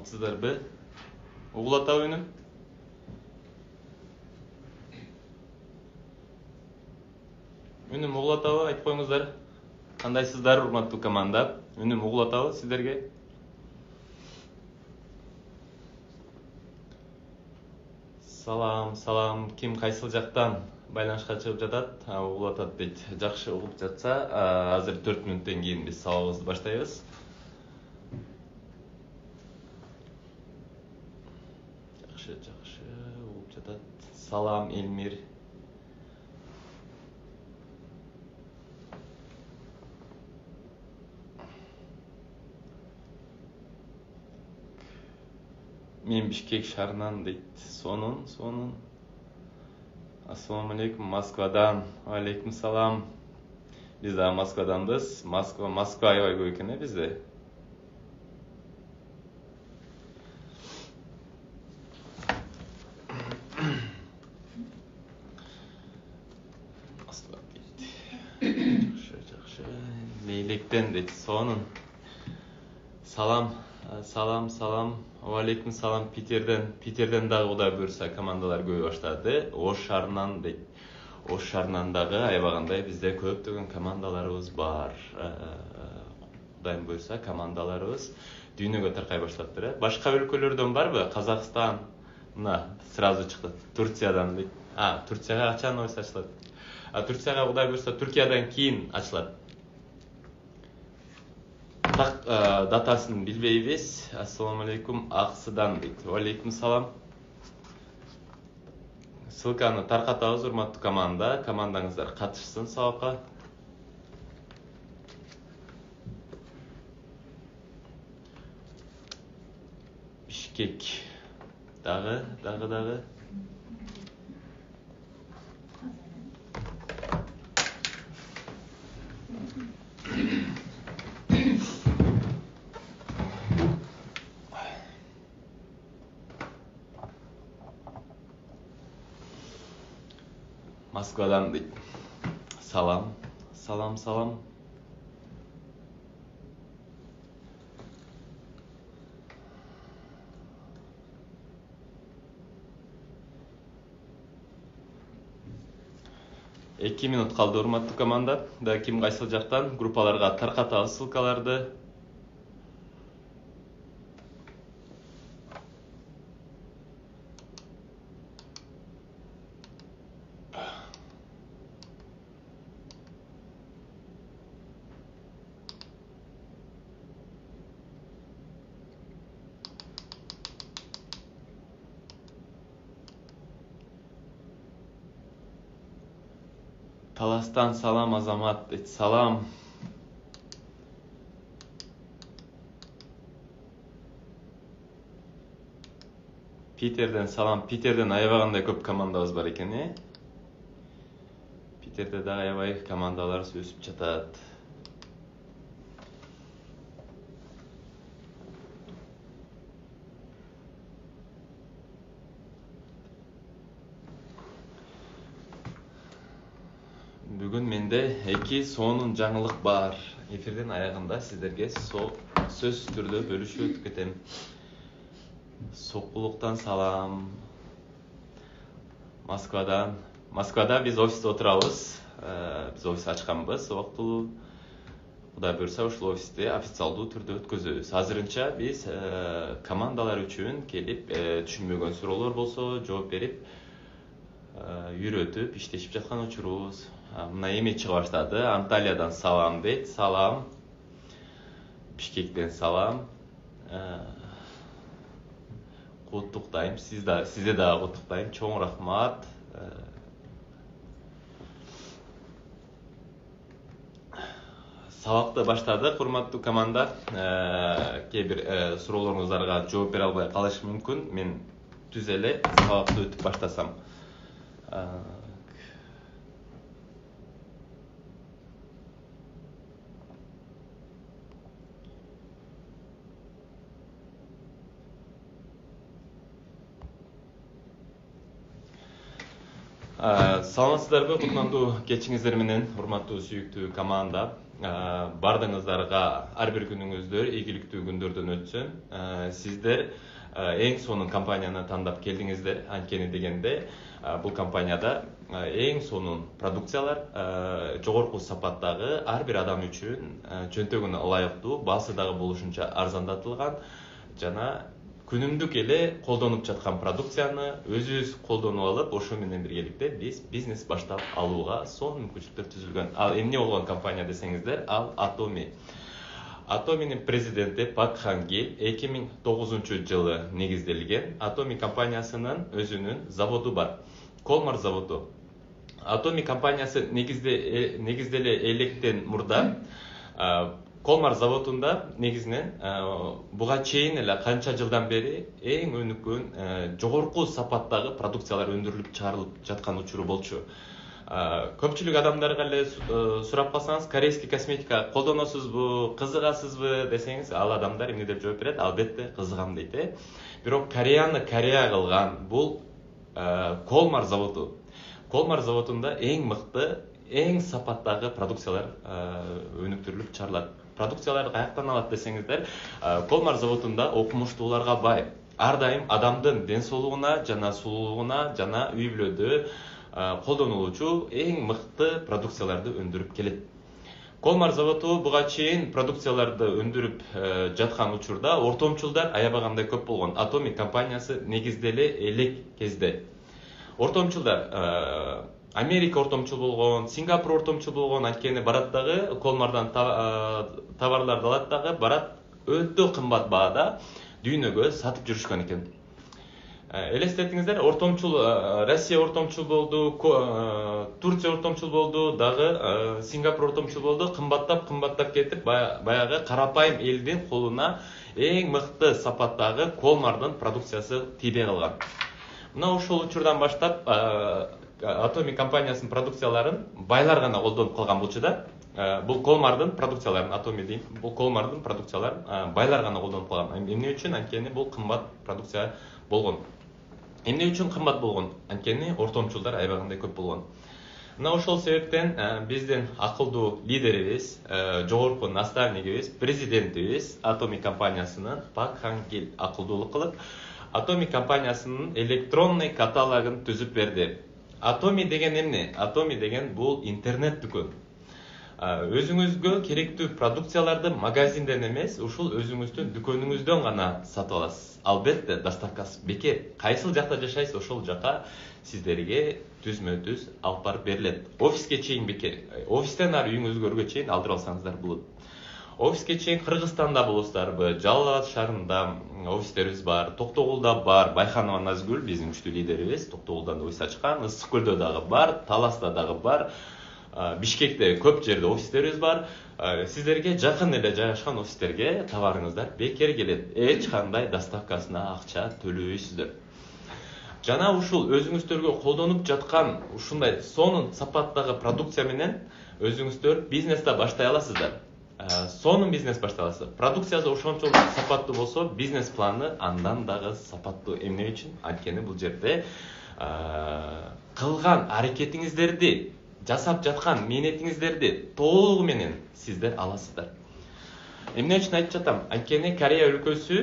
Саламатсыздарбы? Угуп атабы үнүм? Үнүм угуп атабы? Айтып коюңуздар. Кандайсыздар, урматтуу команда? Үнүм угуп атабы сиздерге? Салам. Ким кайсыл жактан байланышка чыгып жатат? Угуп атат дейт. Жакшы, угуп жатса, азыр 4 мүнөттөн кийин биз сабагыбызды баштайбыз. Жакшы, угуп жатат. Салам, Элмир. Мен Бишкек шаарынан дейт. Сонун. Ассаламу алейкум, Москвадан. Алейкум салам. Биз да Москваданбыз. Москва аябай көп экен бизде. Москва дейт. Жакшы. Лейлектен дейт. Сонун. Салам. Алейкум салам Питерден дагы Кудай буйрса командалар көбөй баштады. Ош шаарынан дейт. Ош шаарынан дагы аябагандай бизде көптөгөн командаларыбыз бар. Кудайым буйрса командаларыбыз дүйнөгө таркай баштаптыр. Башка өлкөлөрдөн барбы? Казакстан мына сразу чыкты. Турциядан дейт. Турцияга качан офис ачылат? Турцияга Кудай буйрса Түркиядан кийин ачылат. Так датасын билбейбиз. Ассаламу алейкум, Аксыдан дейт. Алейкум салам. Ссылканы таркатабыз, урматтуу команда. Командаңыздар катышсын сабакка. Бишкек дагы. Москвадан дейт. Салам. 2 минут калды, урматтуу команда. Да ким кайсыл жактан группаларга таркатабыз ссылкаларды. Таластан салам, Азамат дейт. Салам. Питерден салам. Питерден аябагандай көп командабыз бар экен, Питерде дагы аябай командаларыбыз өсүп жатат. Бүгүн менде 2 сонун жаңылык бар. Эфирдин аягында сиздерге сөзсүз түрдө бөлүшүп өтүп кетем. Сокулуктан салам. Москвада биз офисте отурабыз. Биз офис ачканбыз убактылуу. Кудай буйрса ушул офисти официалдуу түрдө өткөзөбүз. Азырынча биз командалар үчүн келип, түшүнбөгөн суроолор болсо жооп берип, үйрөтүп иштешип жаткан учурубуз. Мына эми чыга баштады. Анталиядан салам дейт. Салам. Бишкектен салам. Куттуктайм. Сизде дагы куттуктайм. Чоң рахмат. Сабакты баштадык, урматтуу команда. Кээ бир суроолоруңуздарга жооп бере албай калышы мүмкүн. Мен түз эле сабакты өтүп баштасам. Саламатсыздарбы, кутмандуу кечиңиздер менен, урматтуу сүйүктүү команда. Бардыгыңыздарга ар бир күнүңүздөр ийгиликтүү күндөрдөн өтсүн. Сиздер эң сонун компанияны тандап келдиңиздер. Анткени дегенде бул компанияда эң сонун продукциялар, жогорку сапаттагы, ар бир адам үчүн чөнтөгүнө ылайыктуу, баасы дагы болушунча арзандатылган жана күнүмдүк эле колдонуп жаткан продукцияны өзүбүз колдонуп алып, ошо менен биргеликте биз бизнес баштап алууга сонун мүмкүнчүлүктөр түзүлгөн. Ал эмне болгон компания десеңиздер, ал Atomi. Atomi'нин президенти Пак Хан Гиль 2009 жылы негизделген. Atomi компаниясынын өзүнүн заводу бар. Колмар заводу. Atomi компаниясы негизделе электен мурда Колмар заводунда негизинен буга чейин эле канча жылдан бери эң өнүккөн жогорку сапаттагы продукциялар өндүрүлүп чыгарылып жаткан учуру болчу. Көпчүлүк адамдарга эле сурап калсаңыз, корейский косметика колдоносузбу, кызыгасызбы десеңиз, ал адамдар эмне деп жооп берет? Албетте кызыгам дейт. Бирок Кореяны Корея кылган бул Колмар заводу. Колмар заводунда эң мыкты, эң сапаттагы продукциялар өнүктүрүлүп чыгарылат. Продукциялар каяктан алат десеңиздер, Колмар заводунда окумуштууларга бай. Ар дайым адамдын ден соолугуна жана сулуулугуна жана үй бүлөдө колдонулуучу эң мыкты продукцияларды өндүрүп келет. Колмар заводу буга чейин продукцияларды өндүрүп жаткан учурда ортомчулдар аябагандай көп болгон. Atomi компаниясы негизделе элек кезде ортомчулдар Америка ортомчул болгон, Сингапур ортомчул болгон, анткени барат дагы Колмардан товарларды алат дагы, барат өтө кымбат баада дүйнөгө сатып жүрүшкөн экен. Элестетиңиздер, ортомчул Россия ортомчул болду, Турция ортомчул болду, дагы Сингапур ортомчул болду, кымбаттап кетип, баягы карапайым элдин колуна эң мыкты сапаттагы Колмардын продукциясы тийбей калган. Мына ошол учурдан баштап Atomi компаниясынын продукцияларын байлар гана колдонуп калган болчу да. Бул Колмардын продукцияларын, Atomi дейм, бул Колмардын продукцияларын байлар гана колдонуп калган. Эмне үчүн? Анткени бул кымбат продукция болгон. Эмне үчүн кымбат болгон? Анткени ортомчулдар аябагандай көп болгон. Мына ошол себептен биздин акылдуу лидерибиз, жогорку наставнигибиз, президентибиз Atomi компаниясынын Пак Хан Гиль акылдуулук кылып, Atomi компаниясынын электронный каталогун түзүп берди. Atomi деген эмне? Atomi деген бул интернет дүкөн. Өзүңүзгө керектүү продукцияларды магазинден эмес, ушул өзүңүздүн дүкөнүңүздөн гана сатып аласыз. Албетте, доставкасы бекер. Кайсыл жакта жашайсыз, ошол жака сиздерге түзмө-түз алып барып берилет. Офиске чейин бекер. Офистен ары үйүңүзгө өргө чейин алдырып алсаңыздар болот. Офиске чейин Кыргызстанда болосуздарбы, Жалал Абад шаарында офистерибиз бар, Токтогулда бар, Байханова Назгүл биздин күчтүү лидерибиз Токтогулдан офис ачкан, Ысык Көлдө дагы бар, Таласта дагы бар, Бишкекте көп жерде офистерибиз бар. Сиздерге жакын эле жайгашкан офистерге товарыңыздар бекер келет. Эч кандай доставкасына акча төлөбөйсүздөр. Жана ушул өзүңүздөргө колдонуп жаткан ушундай сонун сапаттагы продукция менен өзүңүздөр бизнесте баштай аласыздар. Сонун бизнес баштай аласыздар. Продукциясы ошончолук сапаттуу болсо, бизнес планы андан дагы сапаттуу. Эмне үчүн? Анткени бул жерде кылган аракетиңиздерди, жасап жаткан мээнетиңиздерди толугу менен сиздер аласыздар. Эмне үчүн айтып жатам? Анткени Корея өлкөсү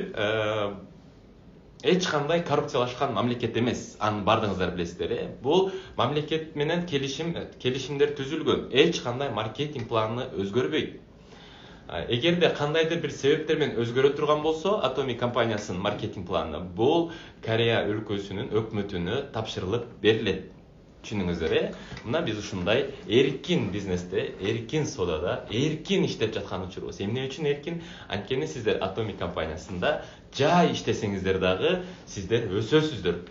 эч кандай коррупциялашкан мамлекет эмес. Аны бардыгыңыздар билесиздер. Бул мамлекет менен келишимдер түзүлгөн. Эч кандай маркетинг планы өзгөрбөйт. Эгерде кандайдыр бир себептер менен өзгөрө турган болсо, Atomi компаниясынын маркетинг планы бул Корея өлкөсүнүн өкмөтүнө тапшырылып берилет. Түшүнүңүздөр, мына биз ушундай эркин бизнесте, эркин содада, эркин иштеп жаткан учурубуз. Эмне үчүн эркин? Анткени сиздер Atomi компаниясында жай иштесеңиздер дагы сиздер өсөсүздөр.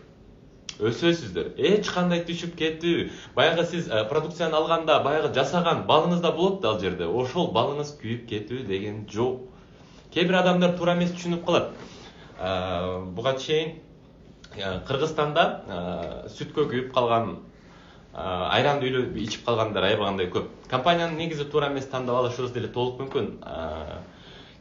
Эч кандай түшүп кетүү. Баягы сиз продукцияны алганда, баягы жасаган балыңызда болот да ал жерде. Ошол балыңыз күйүп кетүү деген жок. Кээ бир адамдар туура эмес түшүнүп калат. Буга чейин Кыргызстанда сүткө күйүп калган, айранды үйлөп ичип калгандар аябагандай көп. Компаниянын негизи туура эмес тандап алышыбыз деле толук мүмкүн.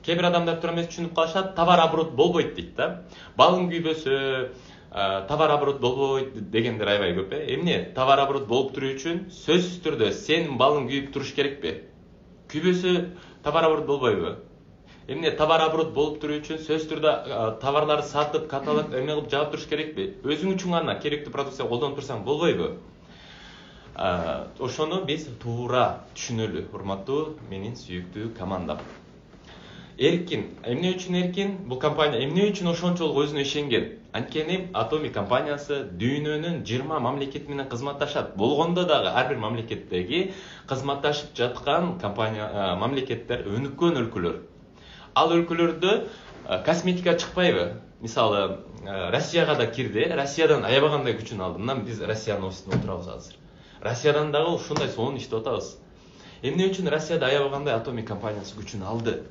Кээ бир адамдар туура эмес түшүнүп калышат, товар оборот болбойт дейт да. Балың күйбөсө, товар оборот болбойт дегендер аябай көп. Эмне товар оборот болуп туруу үчүн сөзсүз түрдө сенин балың күйүп туруш керекпи? Күйбөсө товар оборот болбойбу? Эмне товар оборот болуп туруу үчүн сөзсүз түрдө товарларды сатып, каталог эме кылып жаап туруш керекпи? Өзүң үчүн гана керектүү продукция колдонуп турсаң болбойбу? Ошону биз туура түшүнөлү, урматтуу менин сүйүктүү командам. Эркин. Эмне үчүн эркин? Бул компания эмне үчүн ошончолук өзүнө ишенген? Анткени Atomic компаниясы дүйнөнүн 20 мамлекети менен кызматташат. Болгондо дагы ар бир мамлекеттеги кызматташып жаткан компания мамлекеттер өнүккөн өлкөлөр. Ал өлкөлөрдө косметика чыкпайбы? Мисалы, Россияга да кирди. Россиядан аябагандай күчүн алды. Мына биз Россиянын офисинде отурабыз азыр. Россиядан дагы ушундай сонун иштеп атабыз. Эмне үчүн Россияда аябагандай Atomic компаниясы күчүн алды?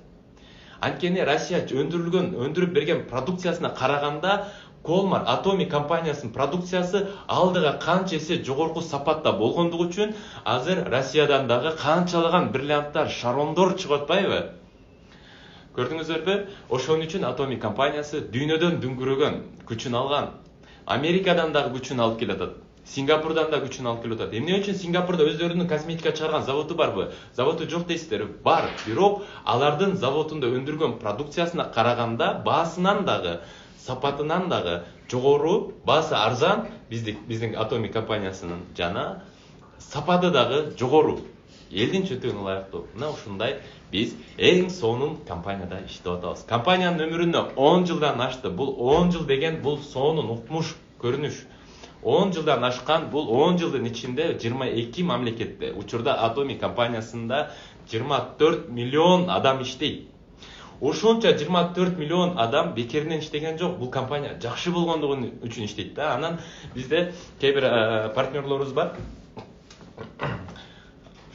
Анткени Россия өндүрүп берген продукциясына караганда Колмар Atomic компаниясынын продукциясы алдыга канча эсе жогорку сапатта болгондугу үчүн азыр Россиядан дагы канчалаган бриллианттар, шарондор чыгып атпайбы? Көрдүңүздөрбү? Ошон үчүн Atomic компаниясы дүйнөдөн дүңгүрөгөн, күчүн алган. Америкадан дагы күчүн алып келатат. Сингапурдан да күчүн алып келатат. Эмне үчүн Сингапурда өздөрүнүн косметика чыгарган заводу барбы? Заводу жок дейсиздер. Бар, бирок алардын заводунда өндүргөн продукциясына караганда баасынан дагы, сапатынан дагы жогору, баасы арзан биздин Atomic компаниясынын жана сапаты дагы жогору. Элдин чөтүгүнө ылайыктуу. Мына ушундай биз эң сонун компанияда иштеп атабыз. Компаниянын өмүрүнө 10 жылдан ашты. Бул 10 жыл деген бул сонун укмуш, көрүнүш. 10 жылдан ашкан, бул 10 жылдын ичинде 22 мамлекетте. Учурда Atomic компаниясында 24 миллион адам иштейт. Ошончо 24 миллион адам бекеринен иштеген жок. Бул компания жакшы болгондугу үчүн иштейт да. Анан бизде кээ бир партнерлорубуз бар.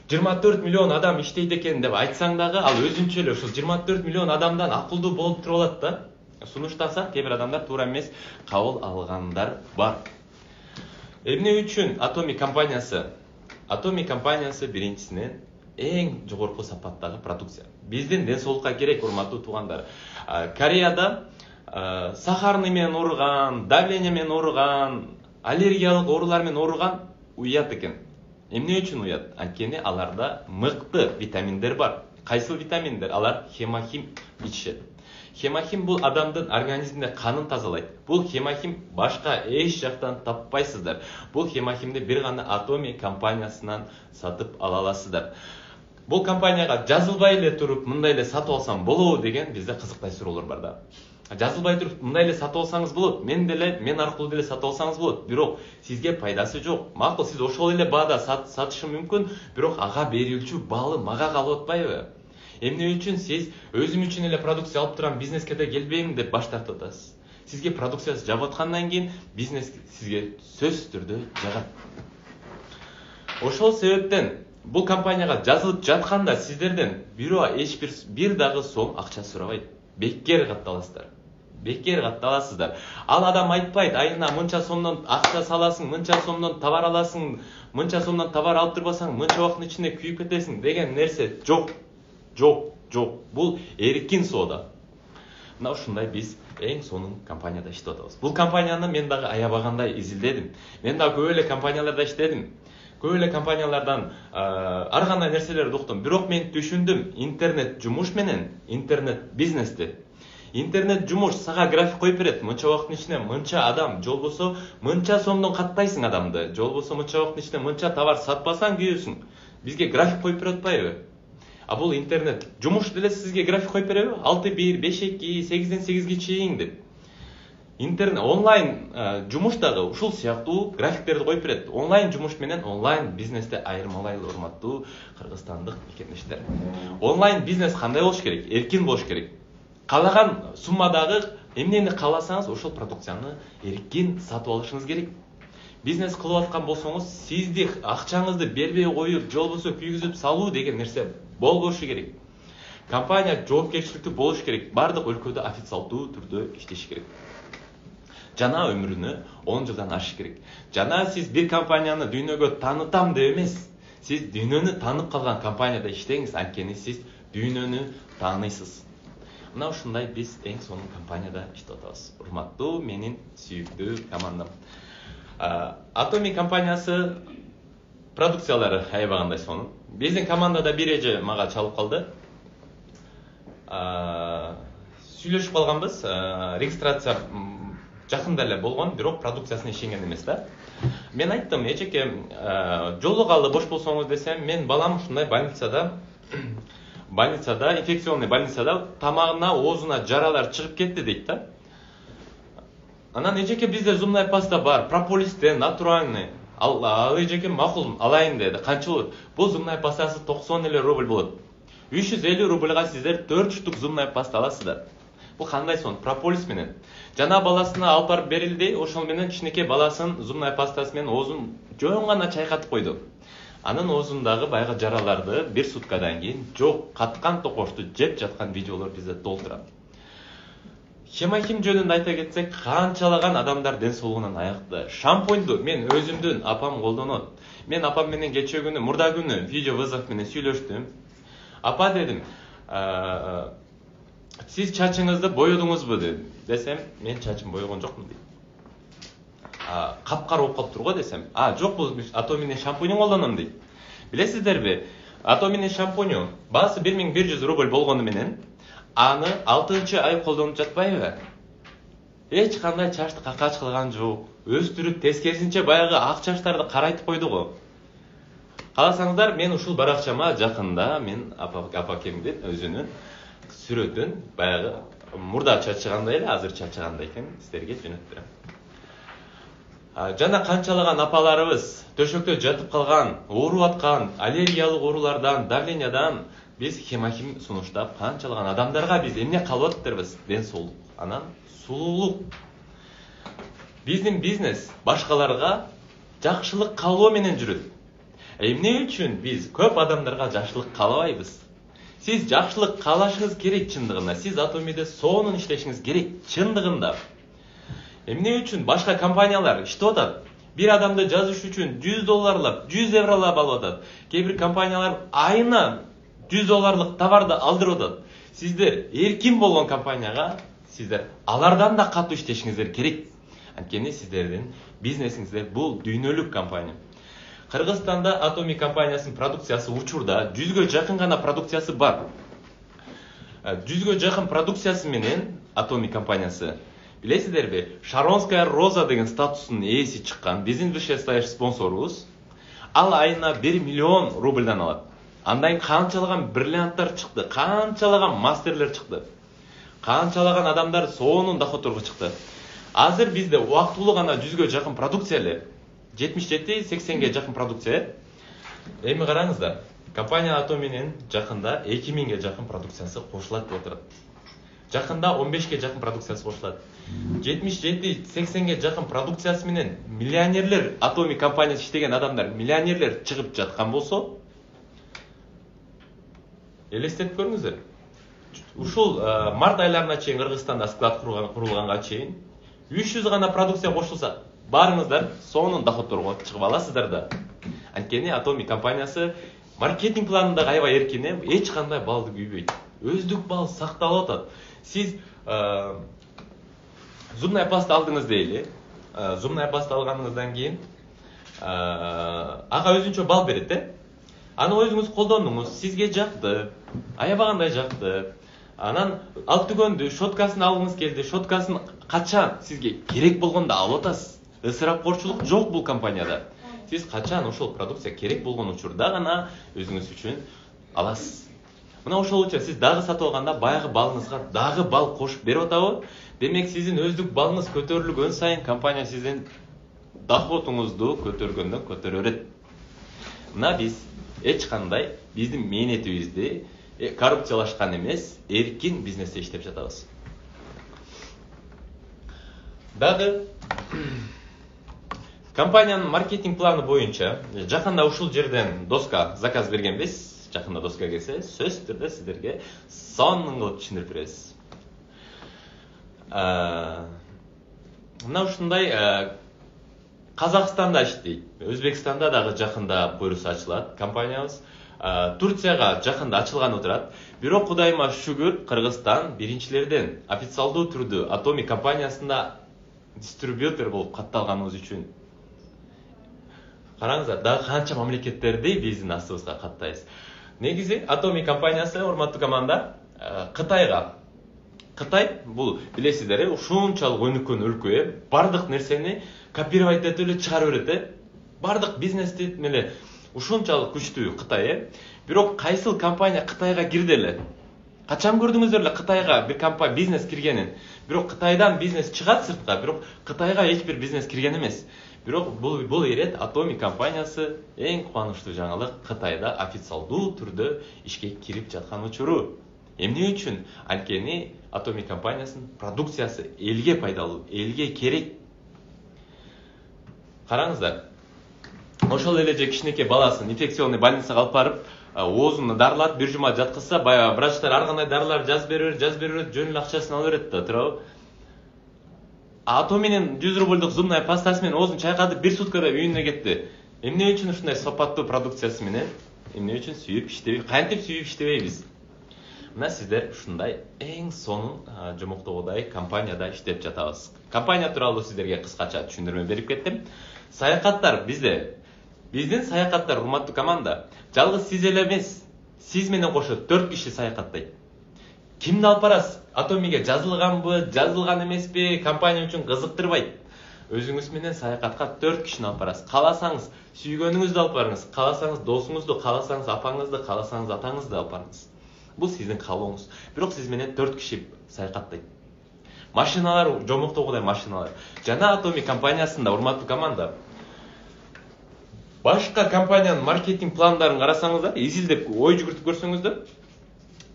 24 миллион адам иштейт экен деп айтсаң дагы, ал өзүнчө эле ошол 24 миллион адамдан акылдуу болуп туруп алат да. Сунуштаса, кээ бир адамдар туура эмес кабыл алгандар бар. Эмне үчүн Atomic компаниясы биринчисинен эң жогорку сапаттагы продукция. Биздин ден соолукка керек, урматтуу туугандар. Кореяда сахарный менен ооруган, давление менен ооруган, аллергиялык оорулар менен ооруган уят экен. Эмне үчүн уят? Анткени аларда мыкты витаминдер бар. Кайсыл витаминдер? Алар хемохим ичишет. Хемохим бул адамдын организминде канын тазалайт. Бул хемохим башка эч жактан таппайсыздар. Бул хемохимди бир гана Atomic компаниясынан сатып ала аласыздар. Бул компанияга жазылбай эле туруп, мындай эле сатып алсам болобу деген бизде кызыктай суроолор бар да. Жазылбай туруп, мындай эле сатып алсаңыз болот, мен аркылуу деле сатып алсаңыз болот, бирок сизге пайдасы жок. Макул, сиз ошол эле баада сатышы мүмкүн, бирок ага берилчү баалы мага калып атпайбы? Эмне үчүн сиз өзүм үчүн эле продукция алып турам, бизнеске да келбейм деп баш тартып атасыз? Сизге продукциясы жагып аткандан кийин бизнес сизге сөзсүз түрдө жагат. Ошол себептен бул компанияга жазылып жатканда сиздерден бирөө бир дагы сом акча сурабайт. Бекер катталасыздар. Ал адам айтпайт, айына мынча сомдон акча саласың, мынча сомдон товар аласың, мынча сомдон товар алып турбасаң, мынча убакыттын ичинде күйүп кетесиң деген нерсе жок. Бул эркин соода. Мына ушундай биз эң сонун компанияда иштеп атабыз. Бул компанияны мен дагы аябагандай изилдедим. Мен дагы көп эле компанияларда иштедим. Көп эле компаниялардан ар кандай нерселерди уктум. Бирок мен түшүндүм, интернет жумуш менен интернет бизнести. Интернет жумуш сага график коюп берет. Мынча убакыттын ичинде мынча адам, жолбосо мынча сомдон каттайсың адамды. Жолбосо мынча убакыттын ичинде мынча товар сатпасаң күйөсүң. Бизге график коюп берип атпайбы? А бул интернет жумуш деле сизге график коюп береби? 6-1, 5-2, 8-ден 8ге чейин деп. Интернет онлайн жумуш дагы ушул сыяктуу графиктерди коюп берет. Онлайн жумуш менен онлайн бизнести айырмалайлы, урматтуу кыргызстандык мекендештер. Онлайн бизнес кандай болуш керек? Эркин болуш керек. Каалаган суммадагы эмнени кааласаңыз ошол продукцияны эркин сатып алышыңыз керек. Бизнес кылып аткан болсоңуз, сизди акчаңызды бербей коюп, жолбосо күйгүзүп салуу деген нерсе болбошу керек. Компания жоопкерчиликтүү болуш керек. Бардык өлкөдө официалдуу түрдө иштеш керек. Жана өмүрүнө 10 жылдан ашыш керек. Жана сиз бир компанияны дүйнөгө таанытам деп эмес, сиз дүйнөнү таанып калган компанияда иштеңиз, анткени сиз дүйнөнү тааныйсыз. Мына ушундай биз эң сонун компанияда иштеп атабыз. Урматтуу менин сүйүктүү командам. Atomy компаниясы продукциялары аябагандай сонун. Биздин командада бир эже мага чалып калды. Сүйлөшүп калганбыз. Регистрация жакында эле болгон, бирок продукциясына ишенген эмес да. Мен айттым, эжеке, жолугалы бош болсоңуз десем, мен балам ушундай больницада, инфекционный больницада тамагына, оозуна жаралар чыгып кетти дейт да. Анан эжеке бизде зубная паста бар, прополистен, натуральный. Ал эжеке макул алайын деди. Канча болот? Бул зубная пастасы 90 эле рубль болот. 350 рубльга сиздер 4 штук зубная паста аласыздар. Бул кандай сон? Прополис менен. Жана баласына алып барып берилди, ошол менен кичинекей баласын зубная пастасы менен оозун жөн гана чайкатып койду. Анын оозундагы баягы жараларды бир суткадан кийин жок каткан токошту жеп жаткан видеолор бизде толтурат. Хемахим жөнүндө айта кетсек, канчалаган адамдар ден соолугунан аякта. Шампуньду мен өзүмдүн апам колдонот. Мен апам менен кечээ күнү, мурда күнү видео вызов менен сүйлөштүм. Апа дедим, сиз чачыңызды боёдуңузбу десем, мен чачым боёгон жокмун дейт. Капкара болуп калыптыр го десем, жок, бул Atomy'nin шампуньун колдоном дейт. Билесиздерби, Atomy'nin шампуньу баасы 1100 рубль болгону менен аны 6-ай колдонуп жатпайбы? Эч кандай чачты какач кылган жок. Өстүрүп, тескерисинче баягы ак чачтарды карайтып койду го. Каласаңыздар, мен ушул баракчама жакында мен апакемдин өзүнүн сүрөтүн баягы мурда чачыгандай эле, азыр чачыгандай экен сиздерге жөнөтүп берем. Жана канчалаган апаларыбыз төшөктө жатып калган, ооруп аткан, аллергиялык оорулардан, давлениядан биз хемахим сунуштап канчалаган адамдарга биз эмне калып атырбыз? Ден соолук, анан сулуулук. Биздин бизнес башкаларга жакшылык каалоо менен жүрөт. Эмне үчүн биз көп адамдарга жакшылык каалабайбыз? Сиз жакшылык каалашыңыз керек чындыгында, сиз Atomy'де сонун иштешиңиз керек чындыгында. Эмне үчүн башка компаниялар иштеп атат? Бир адамды жазыш үчүн $100, 100 евролап алып атат. Кээ бир компаниялар айына $100 товарды алдырып атат. Сиздер эркин болгон компанияга сиздер алардан да катуу иштешиңиздер керек. Анткени сиздердин бизнесиңиздер бул дүйнөлүк компания. Кыргызстанда Atomy компаниясынын продукциясы учурда 100гө жакын гана продукциясы бар. 100гө жакын продукциясы менен Atomy компаниясы, билесиздерби, Шаронская роза деген статустун ээси чыккан, биздин высшестоящий спонсорубуз. Ал айына 1 миллион рубльдан алат. Андан канчалаган бриллианттар чыкты, канчалаган мастерлер чыкты. Канчалаган адамдар сонун доходторго чыкты. Азыр бизде убактылуу гана 100гө жакын продукция эле. 77-80ге жакын продукция. Эми караңыздар, компания Atomy'nin жакында 2000ге жакын продукциясы кошулат деп отурат. Жакында 15ге жакын продукциясы кошулат. 77-80ге жакын продукциясы менен миллионерлер, Atomy компаниясы иштеген адамдар, миллионерлер чыгып жаткан болсо, элестетип көрүңүздөр. Ушул март айларына чейин Кыргызстанда склад курулганга чейин 300 гана продукция кошулса, барыңыздар сонун доходторго чыгып аласыздар да. Анткени Atomy компаниясы маркетинг планында аябай эркин, эч кандай балды күйбөйт. Өздүк бал сакталып атат. Сиз зубная паста алдыңыз дейли. Зубная паста алганыңыздан кийин ага өзүнчө бал берет, Аны өзүңүз колдондуңуз, сизге жакты, аябагандай жакты. Анан ал түгөндү, щоткасын алгыңыз келди, щоткасын качан сизге керек болгондо алып атасыз. Ысырапкорчулук жок бул компанияда. Сиз качан ошол продукция керек болгон учурда гана өзүңүз үчүн аласыз. Мына ошол үчүн сиз дагы сатып алганда баягы балыңызга дагы бал кошуп берип атабы? Демек сиздин өздүк балыңыз көтөрүлгөн сайын компания сиздин доходуңузду көтөргөндөн көтөрө берет. Мына биз эч кандай биздин мээнетибизди коррупциялашкан эмес, эркин бизнесте иштеп жатабыз. Дагы компаниянын маркетинг планы боюнча жакында ушул жерден доска заказ бергенбиз. Жакында доска келсе, сөзсүз түрдө сиздерге сонун кылып түшүндүрүп беребиз. Мына ушундай Казакстанда иштейт. Өзбекстанда дагы жакында буйруса ачылат компаниябыз. Турцияга жакында ачылганы турат. Бирок Кудайыма шүгүр, Кыргызстан биринчилерден официалдуу түрдө Atomic компаниясында дистрибьютор болуп катталганыбыз үчүн. Караңыздар, дагы канча мамлекеттерди биздин астыбызга каттайбыз. Негизи Atomic компаниясы, урматтуу команда, Кытай бул билесиздер, ушунчалык өнүккөн өлкө, бардык нерсени копировать этип эле чыгарып берет. Бардык бизнести меле ушунчалык күчтүү Кытай. Бирок кайсыл компания Кытайга кирди эле? Качан көрдүңүздөр эле Кытайга бир компания бизнес киргенин? Бирок Кытайдан бизнес чыгат сыртка, бирок Кытайга эч бир бизнес кирген эмес. Бирок бул ирет Atomic компаниясы эң кубанычтуу жаңылык, Кытайда официалдуу түрдө ишке кирип жаткан учуру. Эмне үчүн? Анткени Atomic компаниясынын продукциясы элге пайдалуу, элге керек. Караңыздар, ошол эле же кичинекей баласын инфекционный больницага алып барып, оозуну дарылап, бир жума жаткызса, баягы врачтар ар кандай дарылар жазып берет, жөн эле акчасын алып берет да, туурабы? Atomi'nin 100 рубльдук зубная пастасы менен оозун чайкады, бир суткада үйүнө кетти. Эмне үчүн ушундай сапаттуу продукциясы менен? Эмне үчүн сүйүп иштебей? Кантип сүйүп иштебейбиз? Мына сиздер ушундай эң сонун жомоктогудай компанияда иштеп жатабыз. Компания тууралуу сиздерге кыскача түшүндүрмө берип кеттим. Саякаттар бизде. Биздин саякаттар, урматтуу команда, жалгыз сиз эле эмес, сиз менен кошо 4 киши саякаттайт. Кимди алып барасыз? Atomi'ге жазылганбы, жазылган эмеспи, компания үчүн кызыктырбайт. Өзүңүз менен саякатка 4 кишини алып барасыз. Кааласаңыз сүйгөнүңүздү алып барыңыз, кааласаңыз досуңузду, кааласаңыз апаңызды, кааласаңыз атаңызды алып барыңыз. Бул сиздин каалооңуз. Бирок сиз менен 4 киши саякаттайт. Машиналар, жомоктогудай машиналар. Жана Atomic компаниясында, урматтуу команда, башка компаниянын маркетинг пландарын карасаңыздар, изилдеп ой жүгүртүп көрсөңүздөр,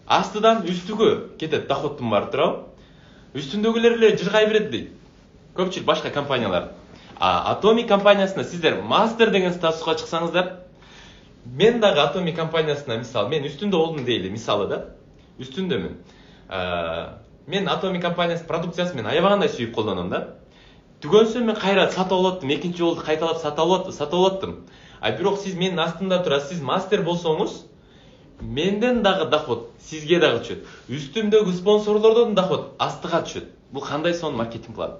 астыдан үстүгө кетет доходтун баары, туурабы? Үстүндөгүлөр эле жыргай берет дейт. Көпчүлүк башка компаниялар. Atomic компаниясында сиздер мастер деген статуска чыксаңыздар, мен дагы Atomic компаниясына, мисалы, мен үстүндө болдум дейли, мисалы да, үстүндөмүн. Мен Atomic компаниясы продукциясын мен аябагандай сүйүп колдоном да. Түгөнсөм мен кайра сатып алаттым, экинчи жолду кайталап сатып алаттым. Бирок сиз менин астымда турасыз, сиз мастер болсоңуз, менден дагы доход сизге дагы түшөт. Үстүмдөгү спонсорлордон доход астыга түшөт. Бул кандай сонун маркетинг план?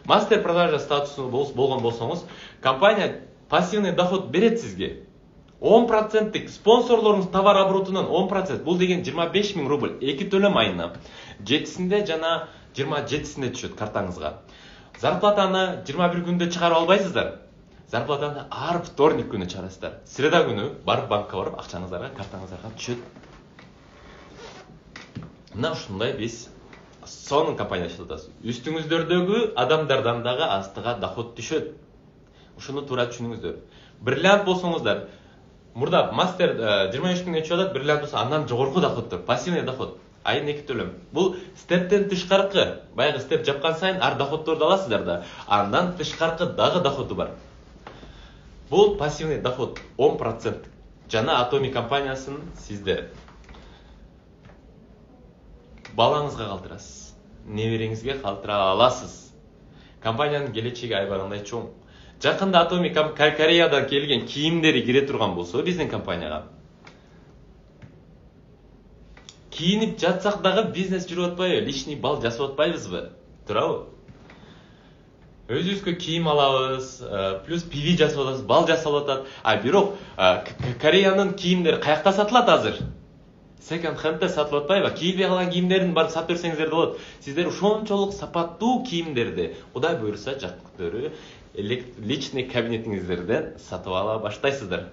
Мастер продажа статусу болгон болсоңуз, компания пассивный доход берет сизге. 10%тик спонсорлоруңуз товар оборотунан 10%, бул деген 25 000 рубль, 2 төлөм айына. 7-синде жана 27-синде түшөт картаңызга. Зарплатаны 21 күндө чыгарып албайсыздар. Зарплатаны ар вторник күнү чыгарасыздар. Среда күнү барып банкка барып акчаңыздарга, картаңыздарга түшөт. Мына ушундай биз сонун компания иштетебиз. Үстүңүздөрдөгү адамдардан дагы астыга доход түшөт. Ушуну туура түшүнүңүздөр. Бриллиант болсоңуздар, мурда мастер 23 күнгө чыгат, бриллиант болсо андан жогорку доходдор, пассивный доход. Айына 2 төлөм. Бул стептен тышкаркы. Баягы степ жапкан сайын ар доходдорду аласыздар да. Андан тышкаркы дагы доходу бар. Бул пассивный доход 10%. Жана Atomic компаниясын сиздер балаңызга калтырасыз. Небереңизге калтыра аласыз. Компаниянын келечеги айбагандай чоң. Жакында Atomic Кореядан келген кийимдери кире турган болсо биздин компанияга, кийинип жатсак дагы бизнес жүрүп атпайбы? Личный бал жасап атпайбызбы? Туурабы? Өзүбүзгө кийим алабыз, плюс пиви жасап атабыз, бал жасап атат. Бирок Кореянын кийимдери каякта сатылат азыр? Second hand'де сатылып атпайбы? Кийилбей калган кийимдерин барып сатып берсеңиздер да болот. Сиздер ошончолук сапаттуу кийимдерди, Кудай буйруса, жакындары личный кабинетиңиздерден сатып ала баштайсыздар.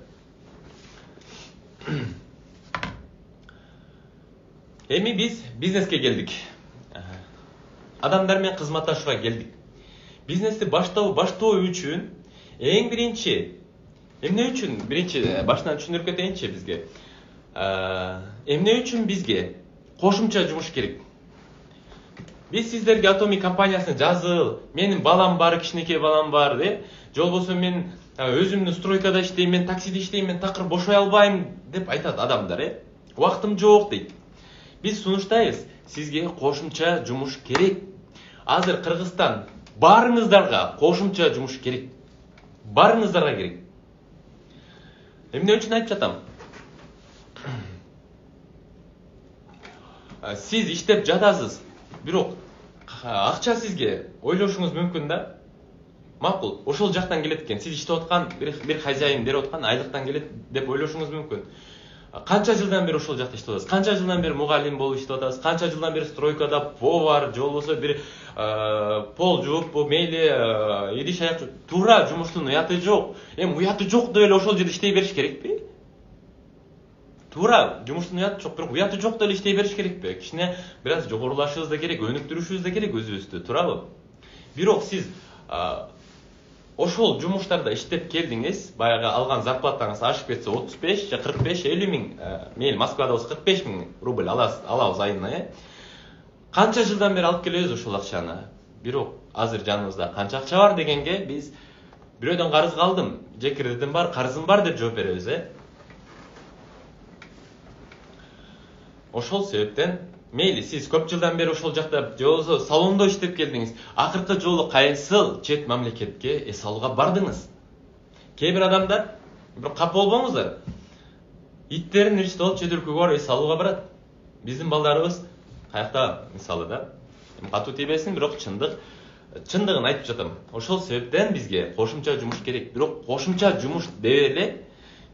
Эми биз бизнеске келдик. Адамдар менен кызматташууга келдик. Бизнести баштоо үчүн эң биринчи, эмне үчүн башынан түшүндүрүп кетейинчи бизге. Эмне үчүн бизге кошумча жумуш керек? Биз сиздерге Atomic компаниясына жазыл, менин балам бар, кичинекей балам бар, же болбосо мен өзүмдүн стройкада иштейм, мен таксиде иштейм, мен такыр бошой албайм деп айтат адамдар, Убактым жок дейт. Биз сунуштайбыз, сизге кошумча жумуш керек. Азыр Кыргызстан барыңыздарга кошумча жумуш керек. Барыңыздарга керек. Эмне үчүн айтып жатам? сиз иштеп жатасыз, бирок акча сизге ойлошуңуз мүмкүн да. Макул, ошол жактан келет экен. Сиз иштеп аткан бир хозяин берип аткан айлыктан келет деп ойлошуңуз мүмкүн. Канча жылдан бери ошол жакта иштеп атасыз? Канча жылдан бери мугалим болуп иштеп атасыз? Канча жылдан бери стройкада повар же болбосо бир пол жууп, мейли идиш аяк туура жумуштун уяты жок. Эми уяты жок деп эле ошол жерде иштей бериш керекпи? Туура жумуштун уяты жок, бирок уяты жок деп эле иштей бериш керекпи? Кичине бир аз жогорулашыбыз да керек, өнүктүрүшүбүз да керек өзүбүздү, туурабы? Бирок сиз ошол жумуштарда иштеп келдиңиз, баягы алган зарплатаңыз ашып кетсе 35 же 45-50 миң, мейли Москвада болсо 45 миң рубль алабыз айына, Канча жылдан бери алып келебиз ошол акчаны. Бирок азыр жаныбызда канча акча бар дегенге биз бирөөдөн карызга алдым, же кредитим бар, карызым бар деп жооп беребиз, Ошол себептен мейли сиз көп жылдан бери ошол жакта же болбосо салондо иштеп келдиңиз, акыркы жолу кайсыл чет мамлекетке эс алууга бардыңыз? Кээ бир адамдар, бирок капа болбоңуздар, иттерин иричте алып чет өлкөгө барып эс алууга барат. Биздин балдарыбыз каякта мисалы да, катуу тийбесин, бирок чындыгын айтып жатам. Ошол себептен бизге кошумча жумуш керек. Бирок кошумча жумуш деп эле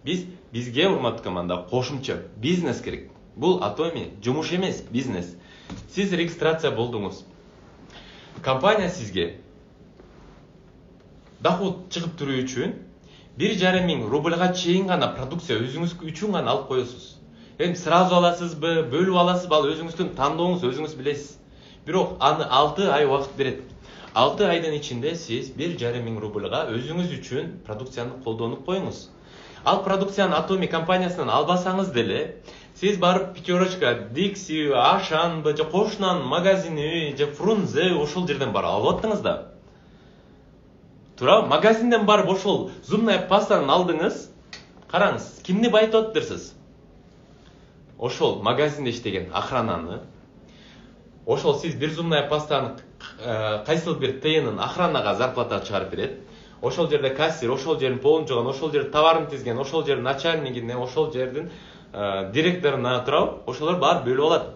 бизге урматтуу команда кошумча бизнес керек. Бул Atomy жумуш эмес, бизнес. Сиз регистрация болдуңуз. Компания сизге доход чыгып туруу үчүн 1,5 миң рубльга чейин гана продукция өзүңүз үчүн гана алып коесуз. Эми сразу аласызбы, бөлүп аласызбы, ал өзүңүздүн тандооңуз, өзүңүз билесиз. Бирок аны 6 ай убакыт берет. 6 айдын ичинде сиз 1,5 миң рубльга өзүңүз үчүн продукцияны колдонуп коюңуз. Ал продукцияны Atomy компаниясынан албасаңыз деле, сиз барып Пятерочка, Dixie, Ашанбы, же кошунан магазини, же Фрунзе ошол жерден барып алып аттыңыз да. Туурабы? Магазинден барып ошол зубная пастаны алдыңыз. Караңыз, кимди байытып атыптырсыз? Ошол магазинде иштеген охрананы. Ошол сиз бир зубная пастаны кайсыл бир тыйынын охранага зарплата чыгарып берет. Ошол жерде кассир, ошол жердин полун жуган, ошол жерде товарын тизген, ошол жердин начальнигине, ошол жердин директоруна турабы, ошолор баары бөлүп алат.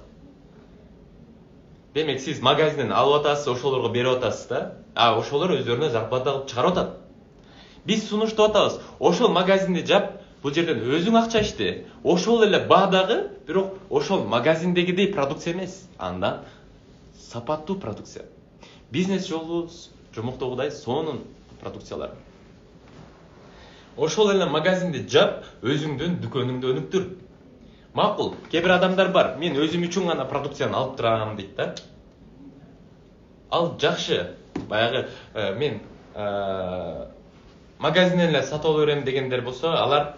Демек сиз магазинден алып атасыз, ошолорго берип атасыз да, ошолор өздөрүнө зарплата кылып чыгарып атат. Биз сунуштап атабыз. Ошол магазинди жап, бул жерден өзүң акча ичти. Ошол эле баадагы, бирок ошол магазиндегидей продукция эмес. Андан сапаттуу продукция. Бизнес жолу жомоктогудай сонун продукциялар. Ошол эле магазинди жап, өзүңдүн дүкөнүңдү өнүктүр. Макул, кээ бир адамдар бар, мен өзүм үчүн гана продукцияны алып турам дейт да. Ал жакшы. Баягы мен магазинден эле сатып ала берем дегендер болсо, алар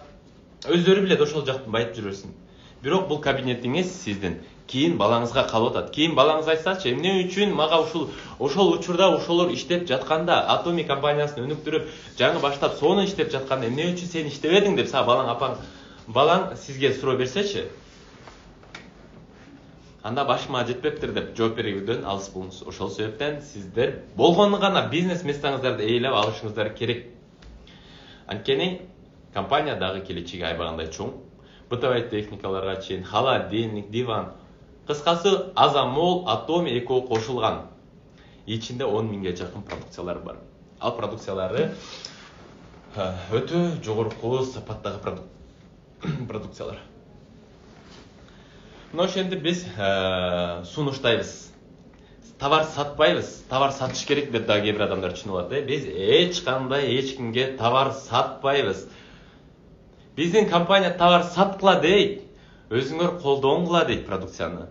өздөрү билет ошол жактан байытып жүрөсүн. Бирок бул кабинетиңиз сиздин. Кийин балаңызга калып атат. Кийин балаңыз айтсачы, эмне үчүн мага ошол учурда ошолор иштеп жатканда, Atomy компаниясын өнүктүрүп, жаңы баштап сону иштеп жатканда эмне үчүн сен иштебедиң деп балаң сизге суроо берсечи. Анда башыма жетпептир деп жооп берүүдөн алыс болуңуз. Ошол себептен сиздер болгону гана бизнес местаңыздарды ээлеп алышыңыздар керек. Анткени компания дагы келечеги айбагандай чоң. Бытовой техникаларга чейин, холодильник, диван. Кыскасы, азамол, Atomy экөө кошулган. Ичинде 10 миңге жакын продукциялар бар. Ал продукциялары өтө жогорку сапаттагы продукциялар. Но ошентип биз сунуштайбыз. Товар сатпайбыз. Товар сатыш керек деп дагы кээ бир адамдар түшүнүп алат. Биз эч кандай эч кимге товар сатпайбыз. Биздин компания товар саткыла дейт. Өзүңөр колдонгула дейт продукцияны.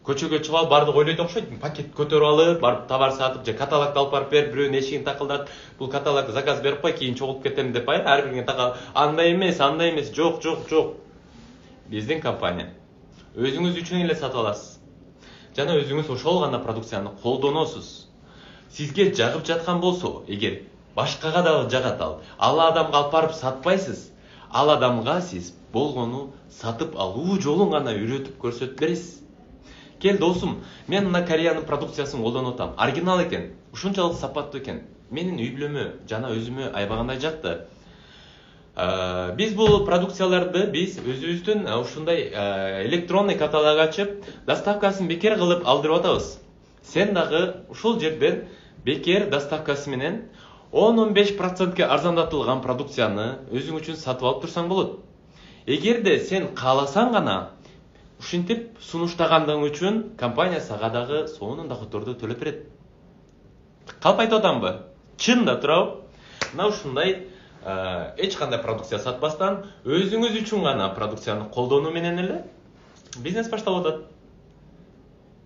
Көчөгө чыгып алып бардык ойлойт окшойт. Пакет көтөрүп алып, барып товар сатып, же каталогду алып барып бер, бирөөнүн эшигин такылдат. Бул каталог заказ берип кой, кийин чогулуп кетем деп ар биринге такал. Андай эмес, жок. Биздин компания өзүңүз үчүн эле сатып аласыз. Жана өзүңүз ошол гана продукцияны колдоносуз. Сизге жагып жаткан болсо, эгер башкага дагы жагат ал адамга алып барып сатпайсыз. Ал адамга сиз болгону сатып алуу жолун гана үйрөтүп көрсөтүп бересиз. Кел досум, мен мына Кореянын продукциясын колдонуп атам. Оригинал экен, ушунчалык сапаттуу экен. Менин үй бүлөмө жана өзүмө айбагандай жакты. Биз бул продукцияларды биз өзүбүздүн ушундай электронный каталог ачып, доставкасын бекер кылып алдырып атабыз. Сен дагы ушул жерден бекер доставкасы менен 10-15% арзандатылган продукцияны өзүң үчүн сатып алып турсаң болот. Эгерде сен кааласаң гана ушинтип сунуштагандыгың үчүн компания сага дагы сонун доходдорду төлөп берет. Калп айтып атамбы? Чын да турабы? Мына ушундай эч кандай продукция сатпастан өзүңүз үчүн гана продукцияны колдонуу менен эле бизнес башталып атат.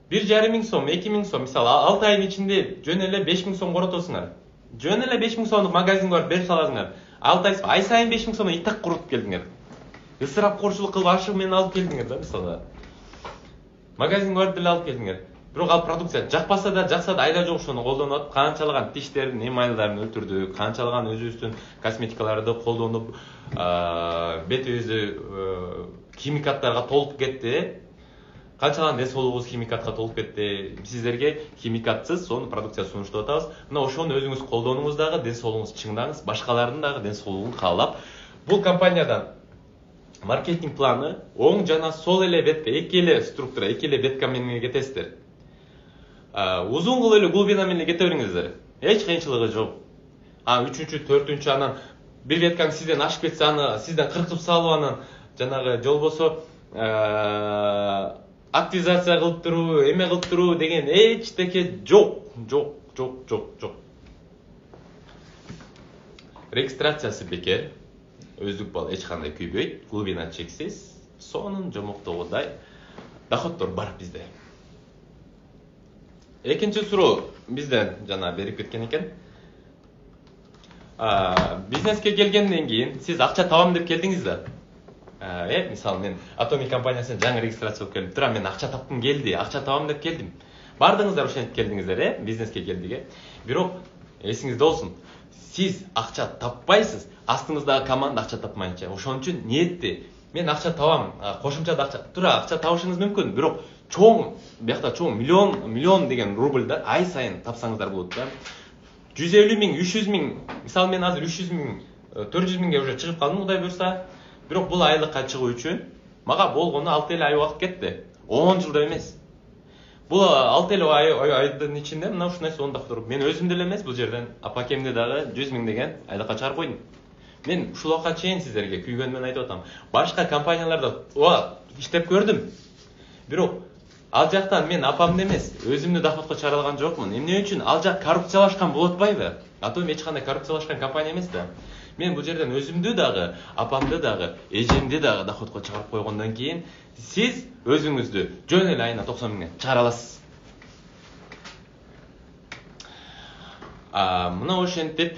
1,5 сом, 2,000 сом, мисалы 6 айдын ичинде жөн эле 5,000 сом коротосуңар. Жөн эле 5,000 сомдук магазинге барып берип саласыңар. 6 ай сайын 5,000 сомдон итак коротуп келдиңер. Ысырапкорчулук кылып ашыгы менен алып келдиңер да, мисалы. Магазинге барып деле алып келдиңер. Бирок ал продукция жакпаса да, жакса да айла жок ошону колдонуп атып, канчалаган тиштердин эмайлдарын өлтүрдү, канчалаган өзүбүздүн косметикаларды колдонуп, бетибизди химикаттарга толуп кетти. Канчалаган ден соолугубуз химикатка толуп кетти. Сиздерге химикатсыз сонун продукция сунуштап атабыз. Мына ошону өзүңүз колдонуңуз дагы, ден соолугуңузду чыңдаңыз, башкалардын дагы ден соолугун каалап. Бул компаниядан маркетинг планы оң жана сол эле бетте, эки эле структура, эки эле бетка менен кетесиздер. Узун кылып эле глубина менен кете бериңиздер. Эч кыйынчылыгы жок. Үчүнчү, төртүнчү анан бир веткаң сизден ашып кетсе, аны сизден кыркып салып, анан жанагы жолбосо активизация кылып туруу, эме кылып туруу деген эчтеке жок. Регистрациясы бекер, өздүк балл эч кандай күйбөйт, глубина чексиз, сонун жомоктогудай доходдор бар бизде. Экинчи суроо бизден жана берип кеткен экен. Бизнеске келгенден кийин сиз акча табам деп келдиңиз да. Мисалы мен Atomic компаниясына жаңы регистрация болуп келип турам, мен акча тапкым келди, акча табам деп келдим. Бардыңыздар ошентип келдиңиздер, бизнеске келдиге. Бирок эсиңизде болсун, сиз акча таппайсыз, астыңыздагы команда акча тапмайынча. Ошон үчүн ниетти, мен акча табам, кошумча акча табышыңыз мүмкүн, бирок чоң, биякта чоң миллион деген рубльда ай сайын тапсаңыздар болот да. 150 миң, 300 миң, мисалы мен азыр 300 миң, 400 миңге уже чыгып калдым, Кудай буйрса. Бирок бул айлыкка чыгуу үчүн мага болгону 6 ай убакыт кетти. 10 жылда эмес. Бул 6 айдын ичинде мына ушундай сонун доходдор. Мен өзүм деле эмес, бул жерден апакемди дагы 100 миң деген айлыкка чыгарып койдум. Мен ушул убакка чейин сиздерге күйгөнмөн айтып атам. Башка компанияларда иштеп көрдүм. Бирок ал жактан мен апамды эмес, өзүмдү доходко чыгара алган жокмун. Эмне үчүн? Ал жак коррупциялашкан болуп атпайбы? Атом эч кандай коррупциялашкан компания эмес да. Мен бул жерден өзүмдү дагы, апамды дагы, эжемди дагы доходко чыгарып койгондон кийин сиз өзүңүздү жөн эле айына 90 миңден чыгара аласыз. Мына ошентип,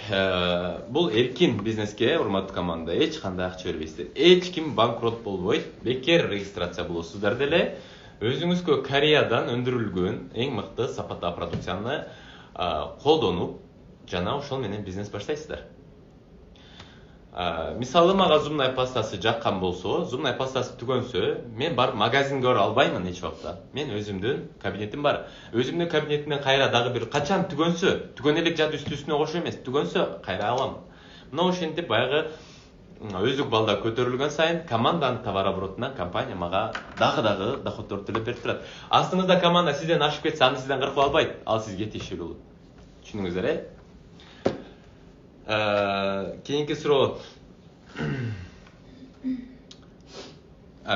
бул эркин бизнеске, урматтуу команда, эч кандай акча бербейсиздер. Эч ким банкрот болбойт, бекер регистрация болосуздар деле. Өзүңүзгө Кореядан өндүрүлгөн эң мыкты сапаттагы продукцияны колдонуп, жана ошол менен бизнес баштайсыздар. Мисалы мага зубная пастасы жаккан болсо, зубная пастасы түгөнсө, мен барып магазинге бара албаймын эч убакта. Мен өзүмдүн кабинетим бар. Өзүмдүн кабинетимден кайра дагы бир качан түгөнсө, түгөн элек жат үстүнө кошо эмес, түгөнсө кайра алам. Мына ошентип баягы өздүк балда көтөрүлгөн сайын команданын товарооборотунан компания мага дагы доходдор төлөп берип турат. Астыңызда команда сизден ашып кетсе, аны сизден кыркып албайт, ал сизге тиешелүү болот. Түшүнүңүздөр, Кийинки суроо.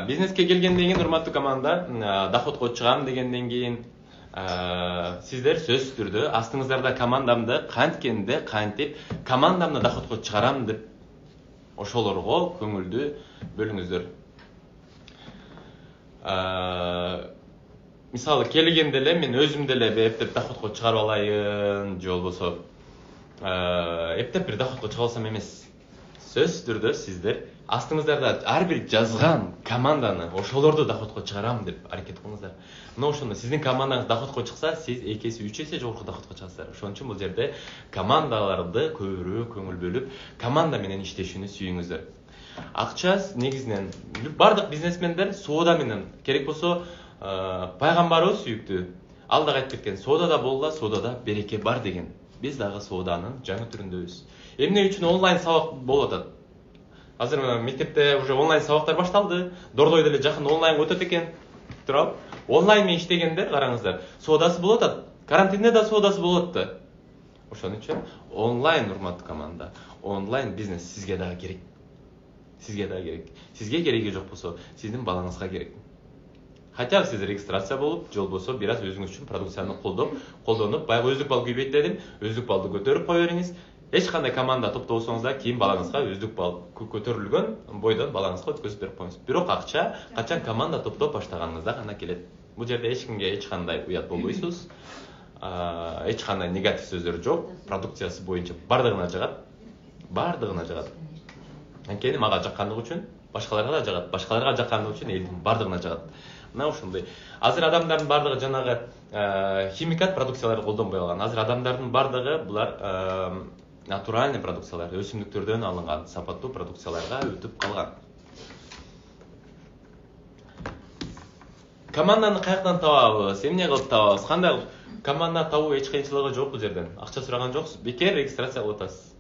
Бизнеске келгенден кийин, урматтуу команда, доходко чыгам дегенден кийин сиздер сөзсүз түрдө астыңыздарда командамды кантип командамды доходко чыгарам деп ошолорго көңүлдү бөлүңүздөр. Мисалы келгенде эле мен өзүм деле эптеп доходко чыгарып алайын, же болбосо эптеп бир доходко чыга алсам эмес. Сөзсүз түрдө сиздер астыңыздарда ар бир жазган команданы ошолорду доходко чыгарам деп аракет кылыңыздар. Мына ошондо сиздин командаңыз доходко чыкса, сиз 2 эсе 3 эсе жогорку доходко чыгасыздар. Ошон үчүн бул жерде командаларды көбүрөөк көңүл бөлүп, команда менен иштешүүнү сүйүңүздөр. Акча негизинен бардык бизнесмендер соода менен, керек болсо пайгамбарыбыз сүйүктүү ал дагы айтып кеткен, соодада болла, соодада береке бар деген. Биз дагы сооданын жаңы түрүндөбүз. Эмне үчүн онлайн сабак болуп атат? Азыр мектепте уже онлайн сабактар башталды. Дордой деле жакында онлайн өтөт экен. Туруп, онлайн менен иштегендер караңыздар. Соодасы болуп атат. Карантинде да соодасы болуп атты. Ошон үчүн онлайн урматтуу команда, онлайн бизнес сизге дагы керек. Сизге дагы керек. Сизге кереги жок болсо, сиздин балаңызга керек. Хотя бы сиз регистрация болуп, же болбосо бир аз өзүңүз үчүн продукцияны колдонуп, баягы өздүк балл көбөйт дедим, өздүк баллды көтөрүп кое бериңиз. Эч кандай команда топтобосоңуз да кийин балаңызга өздүк балл көтөрүлгөн бойдон балаңызга өткөзүп берип коюңуз. Бирок акча качан команда топтоп баштаганыңызда гана келет. Бул жерде эч кимге эч кандай уят болбойсуз. Эч кандай негатив сөздөр жок. Продукциясы боюнча бардыгына жагат. Бардыгына жагат. Анткени мага жаккандыгы үчүн башкаларга да жагат. Башкаларга жаккандыгы үчүн элдин бардыгына жагат. Мына ошондой. Азыр адамдардын бардыгы жанагы химикат продукцияларды колдонбой калган. Азыр адамдардын бардыгы булар натуральный продукциялар, өсүмдүктөрдөн алынган сапаттуу продукцияларга өтүп калган. Команданы каяктан табабыз? Эмне кылып табабыз? Кандай команда табуу эч кыйынчылыгы жок бул жерден. Акча сураган жоксуз. Бекер регистрация кылып атасыз.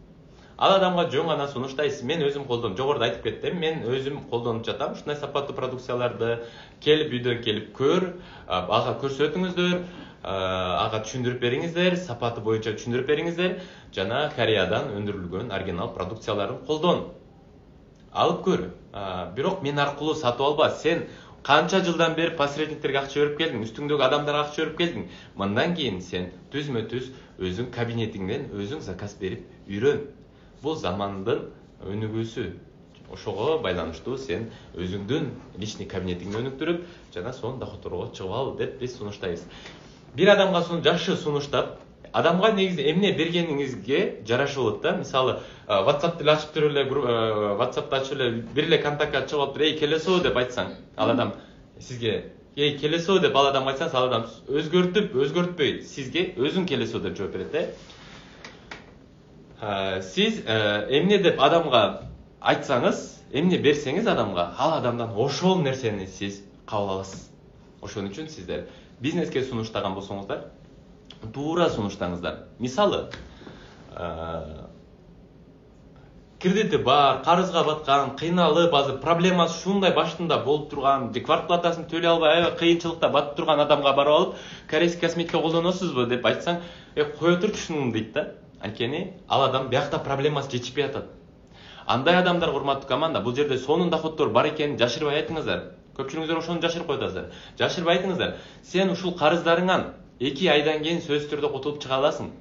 Ал адамга жөн гана сунуштайсыз. Мен өзүм колдонуп, жогоруда айтып кеттим. Мен өзүм колдонуп жатам. Ушундай сапаттуу продукцияларды келип үйдөн келип көр, ага көрсөтүңүздөр, ага түшүндүрүп бериңиздер, сапаты боюнча түшүндүрүп бериңиздер. Жана Кореядан өндүрүлгөн оригинал продукцияларын колдон. Алып көр. Бирок мен аркылуу сатып алба. Сен канча жылдан бери посредниктерге акча берип келдиң, үстүңдөгү адамдарга акча берип келдиң. Мындан кийин сен түзмө-түз өзүң кабинетиңден өзүң заказ берип үйрөн. Бул замандын өнүгүүсү. Ошого байланыштуу сен өзүңдүн личный кабинетиңди өнүктүрүп, жана сонун доходторго чыгып ал деп биз сунуштайбыз. Бир адамга жакшы сунуштап, адамга негизи эмне бергениңизге жараша болот да. Мисалы, WhatsApp деле ачып туруп эле, WhatsApp'ты ачып эле бир эле контактка чыгып туруп, "Эй, келесиң" деп айтсаң, ал адам сизге "Эй, келесиң" деп ал адамга айтсаңыз, ал адам өзгөртпөй, сизге өзүң келесиң деп жооп берет. Сиз эмне деп адамга айтсаңыз, эмне берсеңиз адамга, ал адамдан ошол нерсени сиз кабыл аласыз. Ошон үчүн сиздер бизнеске сунуштаган болсоңуздар, туура сунуштаңыздар. Мисалы, кредити бар, карызга баткан, кыйналып, азыр проблемасы ушундай башында болуп турган, квартплатасын төлөй албай, аябай кыйынчылыкта батып турган адамга барып алып, корейский косметика колдоносузбу деп айтсаң, кое турчу ушуну дейт да. Анткени ал адам биякта проблемасы чечишпей атат. Андай адамдар урматтуу команда, бул жерде сонун доходдор бар экенин жашырбай айтыңыздар. Көпчүлүгүңүздөр ошону жашырып коет азыр. Жашырбай айтыңыздар. Сен ушул карыздарыңан 2 айдан кийин сөзсүз түрдө кутулуп чыга аласың.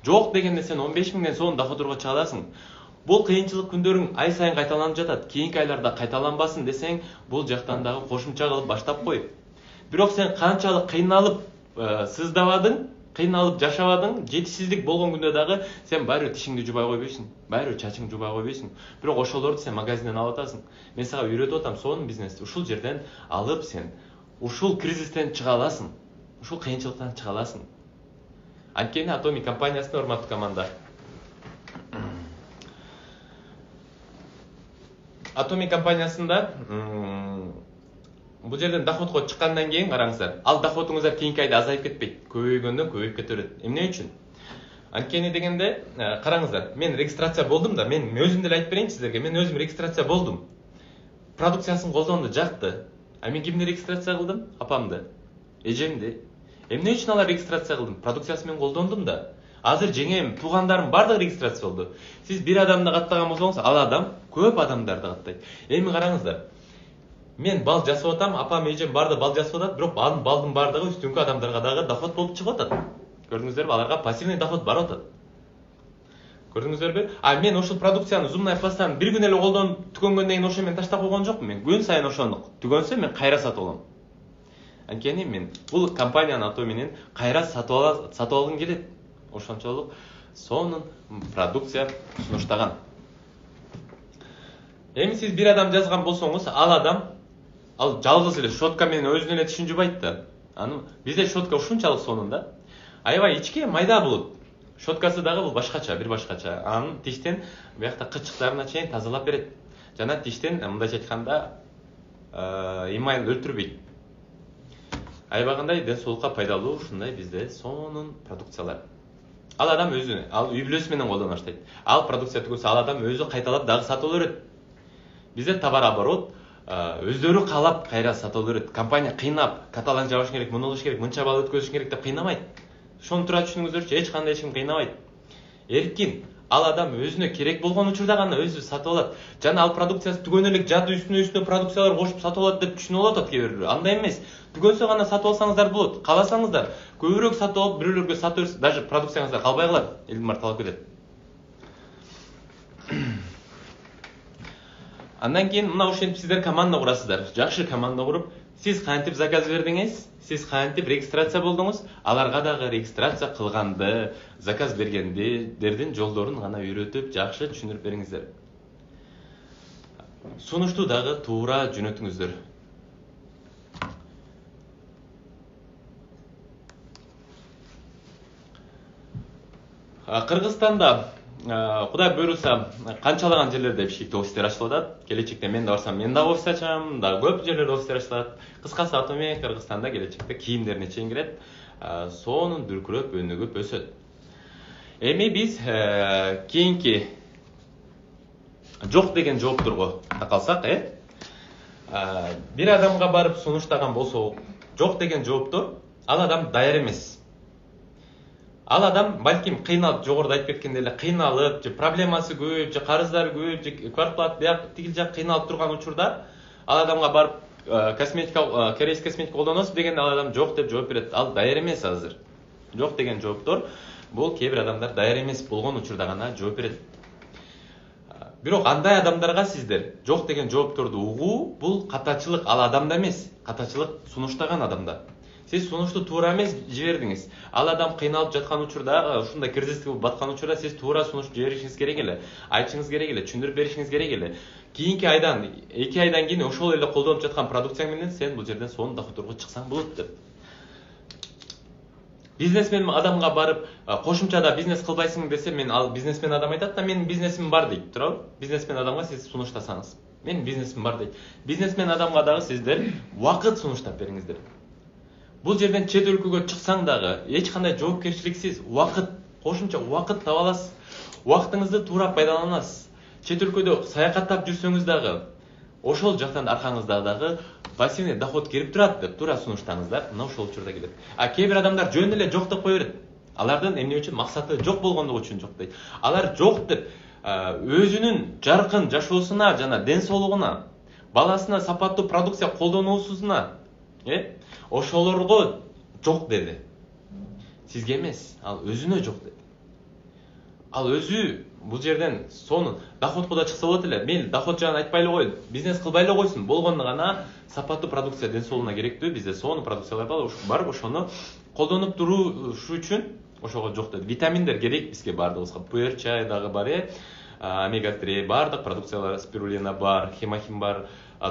Жок дегенде сен 15 миңден сонун доходдорго чыга аласың. Бул кыйынчылык күндөрүң ай сайын кайталанып жатат. Кийинки айларда кайталанбасын десең, бул жактан дагы кошумча кылып баштап кой. Бирок сен канчалык кыйналып сыздабадың, кыйналып жашабадың, жетишсиздик болгон күндө дагы сен баары тишиңди жубай койбойсуң, баары чачыңды жубай койбойсуң. Бирок ошолорду сен магазинден алып атасың. Мен сага үйрөтүп атам сонун бизнести. Ушул жерден алып сен ушул кризистен чыга аласың. Ушул кыйынчылыктан чыга аласың. Анткени Atomic компаниясына урматтуу команда. Atomic компаниясында бул жерден доходко чыккандан кийин караңыздар, ал доходуңуздар кийинки айда азайып кетпейт, көбөйгөндөн көбөйүп кете берет. Эмне үчүн? Анткени дегенде, караңыздар, мен регистрация болдум да, мен өзүм деле айтып берейин сиздерге, мен өзүм регистрация болдум. Продукциясын колдонду, жакты. А мен кимди регистрация кылдым? Апамды, эжемди. Эмне үчүн алар регистрация кылдым? Продукциясын мен колдондум да. Азыр жеңем, туугандарым бардыгы регистрация болду. Сиз бир адамды каттаган болсоңуз, ал адам көп адамдарды каттайт. Эми караңыздар. Мен бал жасап атам, апам, эжем барды бал жасап атат, бирок анын балдын бардыгы үстүнкү адамдарга дагы доход болуп чыгып атат. Көрдүңүздөрбү? Аларга пассивный доход барып атат. Көрдүңүздөрбү? Мен ошол продукцияны зумная пастаны бир күн эле колдонуп түгөнгөндөн кийин ошо мен таштап койгон жокмун. Мен күн сайын ошону түгөнсө мен кайра сатып алам. Анткени мен бул компанияны Atomi'нин кайра сатып алгым келет. Ошончолук сонун продукция сунуштаган. Эми сиз бир адам жазган болсоңуз, ал жалгыз эле щетка менен өзүнүн эле тишин жубайт да. Бизде щетка ушунчалык сонун да. Аябай ичке майда болот. Щеткасы дагы бул башкача, бир башкача. Анын тиштен биякта кычыктарына чейин тазалап берет. Жана тиштен мындайча айтканда эмайл өлтүрбөйт. Аябагандай ден соолукка пайдалуу ушундай бизде сонун продукциялар. Ал адам өзү, ал үй бүлөсү менен колдоно баштайт. Ал продукция түгөлсө, ал адам өзү кайталап дагы сатып берет. Бизде товар оборот өздөрү каалап кайра сатып берет. Компания кыйнап, каталог жабыш керек, муну кылыш керек, мынча балл өткөзүш керек деп кыйнамайт. Ошону туура түшүнүңүздөрчү, эч кандай эч ким кыйнабайт. Эркин, ал адам өзүнө керек болгон учурда гана өзү сатып алат. Жана ал продукциясы түгөнө элек жады үстүнө продукциялар кошуп сатып алат деп түшүнүп атат кээ бирөө. Андай эмес. Түгөнсө гана сатып алсаңыздар болот. Кааласаңыздар көбүрөөк сатып алып, бирөөлөргө сатып берсеңиз, даже продукцияңыздар калбай калат. Элдин талап кетет. Андан кийин мына ошентип сиздер команда курасыздар. Жакшы команда куруп, сиз кантип заказ бердиңиз, сиз кантип регистрация болдуңуз, аларга дагы регистрация кылганды, заказ бергендердин жолдорун гана үйрөтүп, жакшы түшүндүрүп бериңиздер. Сунушту дагы туура жөнөтүңүздөр. Кыргызстанда Кудай буйруса, канчалаган жерлерде бишкекте офистер ачылып атат. Келечекте мен да барсам, мен дагы офис ачам, да көп жерлерде офистер ачылат. Кыскасы Атоми Кыргызстанда келечекте кийимдерине чейин кирет. Сонун дүркүрөп, өнүгүп өсөт. Эми биз кийинки жок деген жоопторго такалсак, бир адамга барып сунуштаган болсок, жок деген жооптор, ал адам даяр эмес. Ал адам балким кыйналып, жогоруда айтып кеткендей эле кыйналып, же проблемасы көп, же карыздары көп, же квартплат бияк тигил жак кыйналып турган учурда ал адамга барып корейский косметика колдоносуз дегенде ал адам жок деп жооп берет. Ал даяр эмес азыр. Жок деген жооптор бул кээ бир адамдар даяр эмес болгон учурда гана жооп берет. Бирок андай адамдарга сиздер жок деген жоопторду угуу бул катачылык, ал адамда эмес, катачылык сунуштаган адамда. Сиз сунушту туура эмес жибердиңиз. Ал адам кыйналып жаткан учурда, ушундай кризиске баткан учурда сиз туура сунуш жиберишиңиз керек эле, айтышыңыз керек эле, түшүндүрүп беришиңиз керек эле. Кийинки айдан, 2 айдан кийин ошол эле колдонуп жаткан продукцияң менен сен бул жерден сонун доходторго чыксаң болот деп. Бизнесмен адамга барып, кошумчада бизнес кылбайсың десе, мен ал бизнесмен адам айтат да, менин бизнесим бар дейт, туурабы? Бизнесмен адамга сиз сунуштасаңыз, менин бизнесим бар дейт. Бизнесмен адамга дагы сиздер убакыт сунуштап бериңиздер. Бул жерден чет өлкөгө чыксаң дагы эч кандай жоопкерчиликсиз убакыт, кошумча убакыт таба аласыз. Убактыңызды туура пайдаланасыз. Чет өлкөдө саякаттап жүрсөңүз дагы ошол жактан аркаңызда дагы пассивный доход келип турат деп туура сунуштаңыздар, мына ошол учурда келет. Кээ бир адамдар жөн эле жок деп кое берет. Алардын эмне үчүн максаты жок болгондугу үчүн жок дейт. Алар жок деп өзүнүн жаркын жашоосуна жана ден соолугуна, баласына сапаттуу продукция колдонуусуна, ошолорго жок деди. Сизге эмес, ал өзүнө жок деди. Ал өзү бул жерден сонун доходко да чыкса болот эле. Мен доход жагын айтпай эле кой, бизнес кылбай эле койсун. Болгондо гана сапаттуу продукция ден соолугуна керектүү. Бизде сонун продукциялар бар, ошону колдонуп туруш үчүн ошого жок деди. Витаминдер керек бизге бардыгыбызга. Пуэр чай дагы бар, омега-3 бардык продукциялар, спирулина бар, хемахим бар,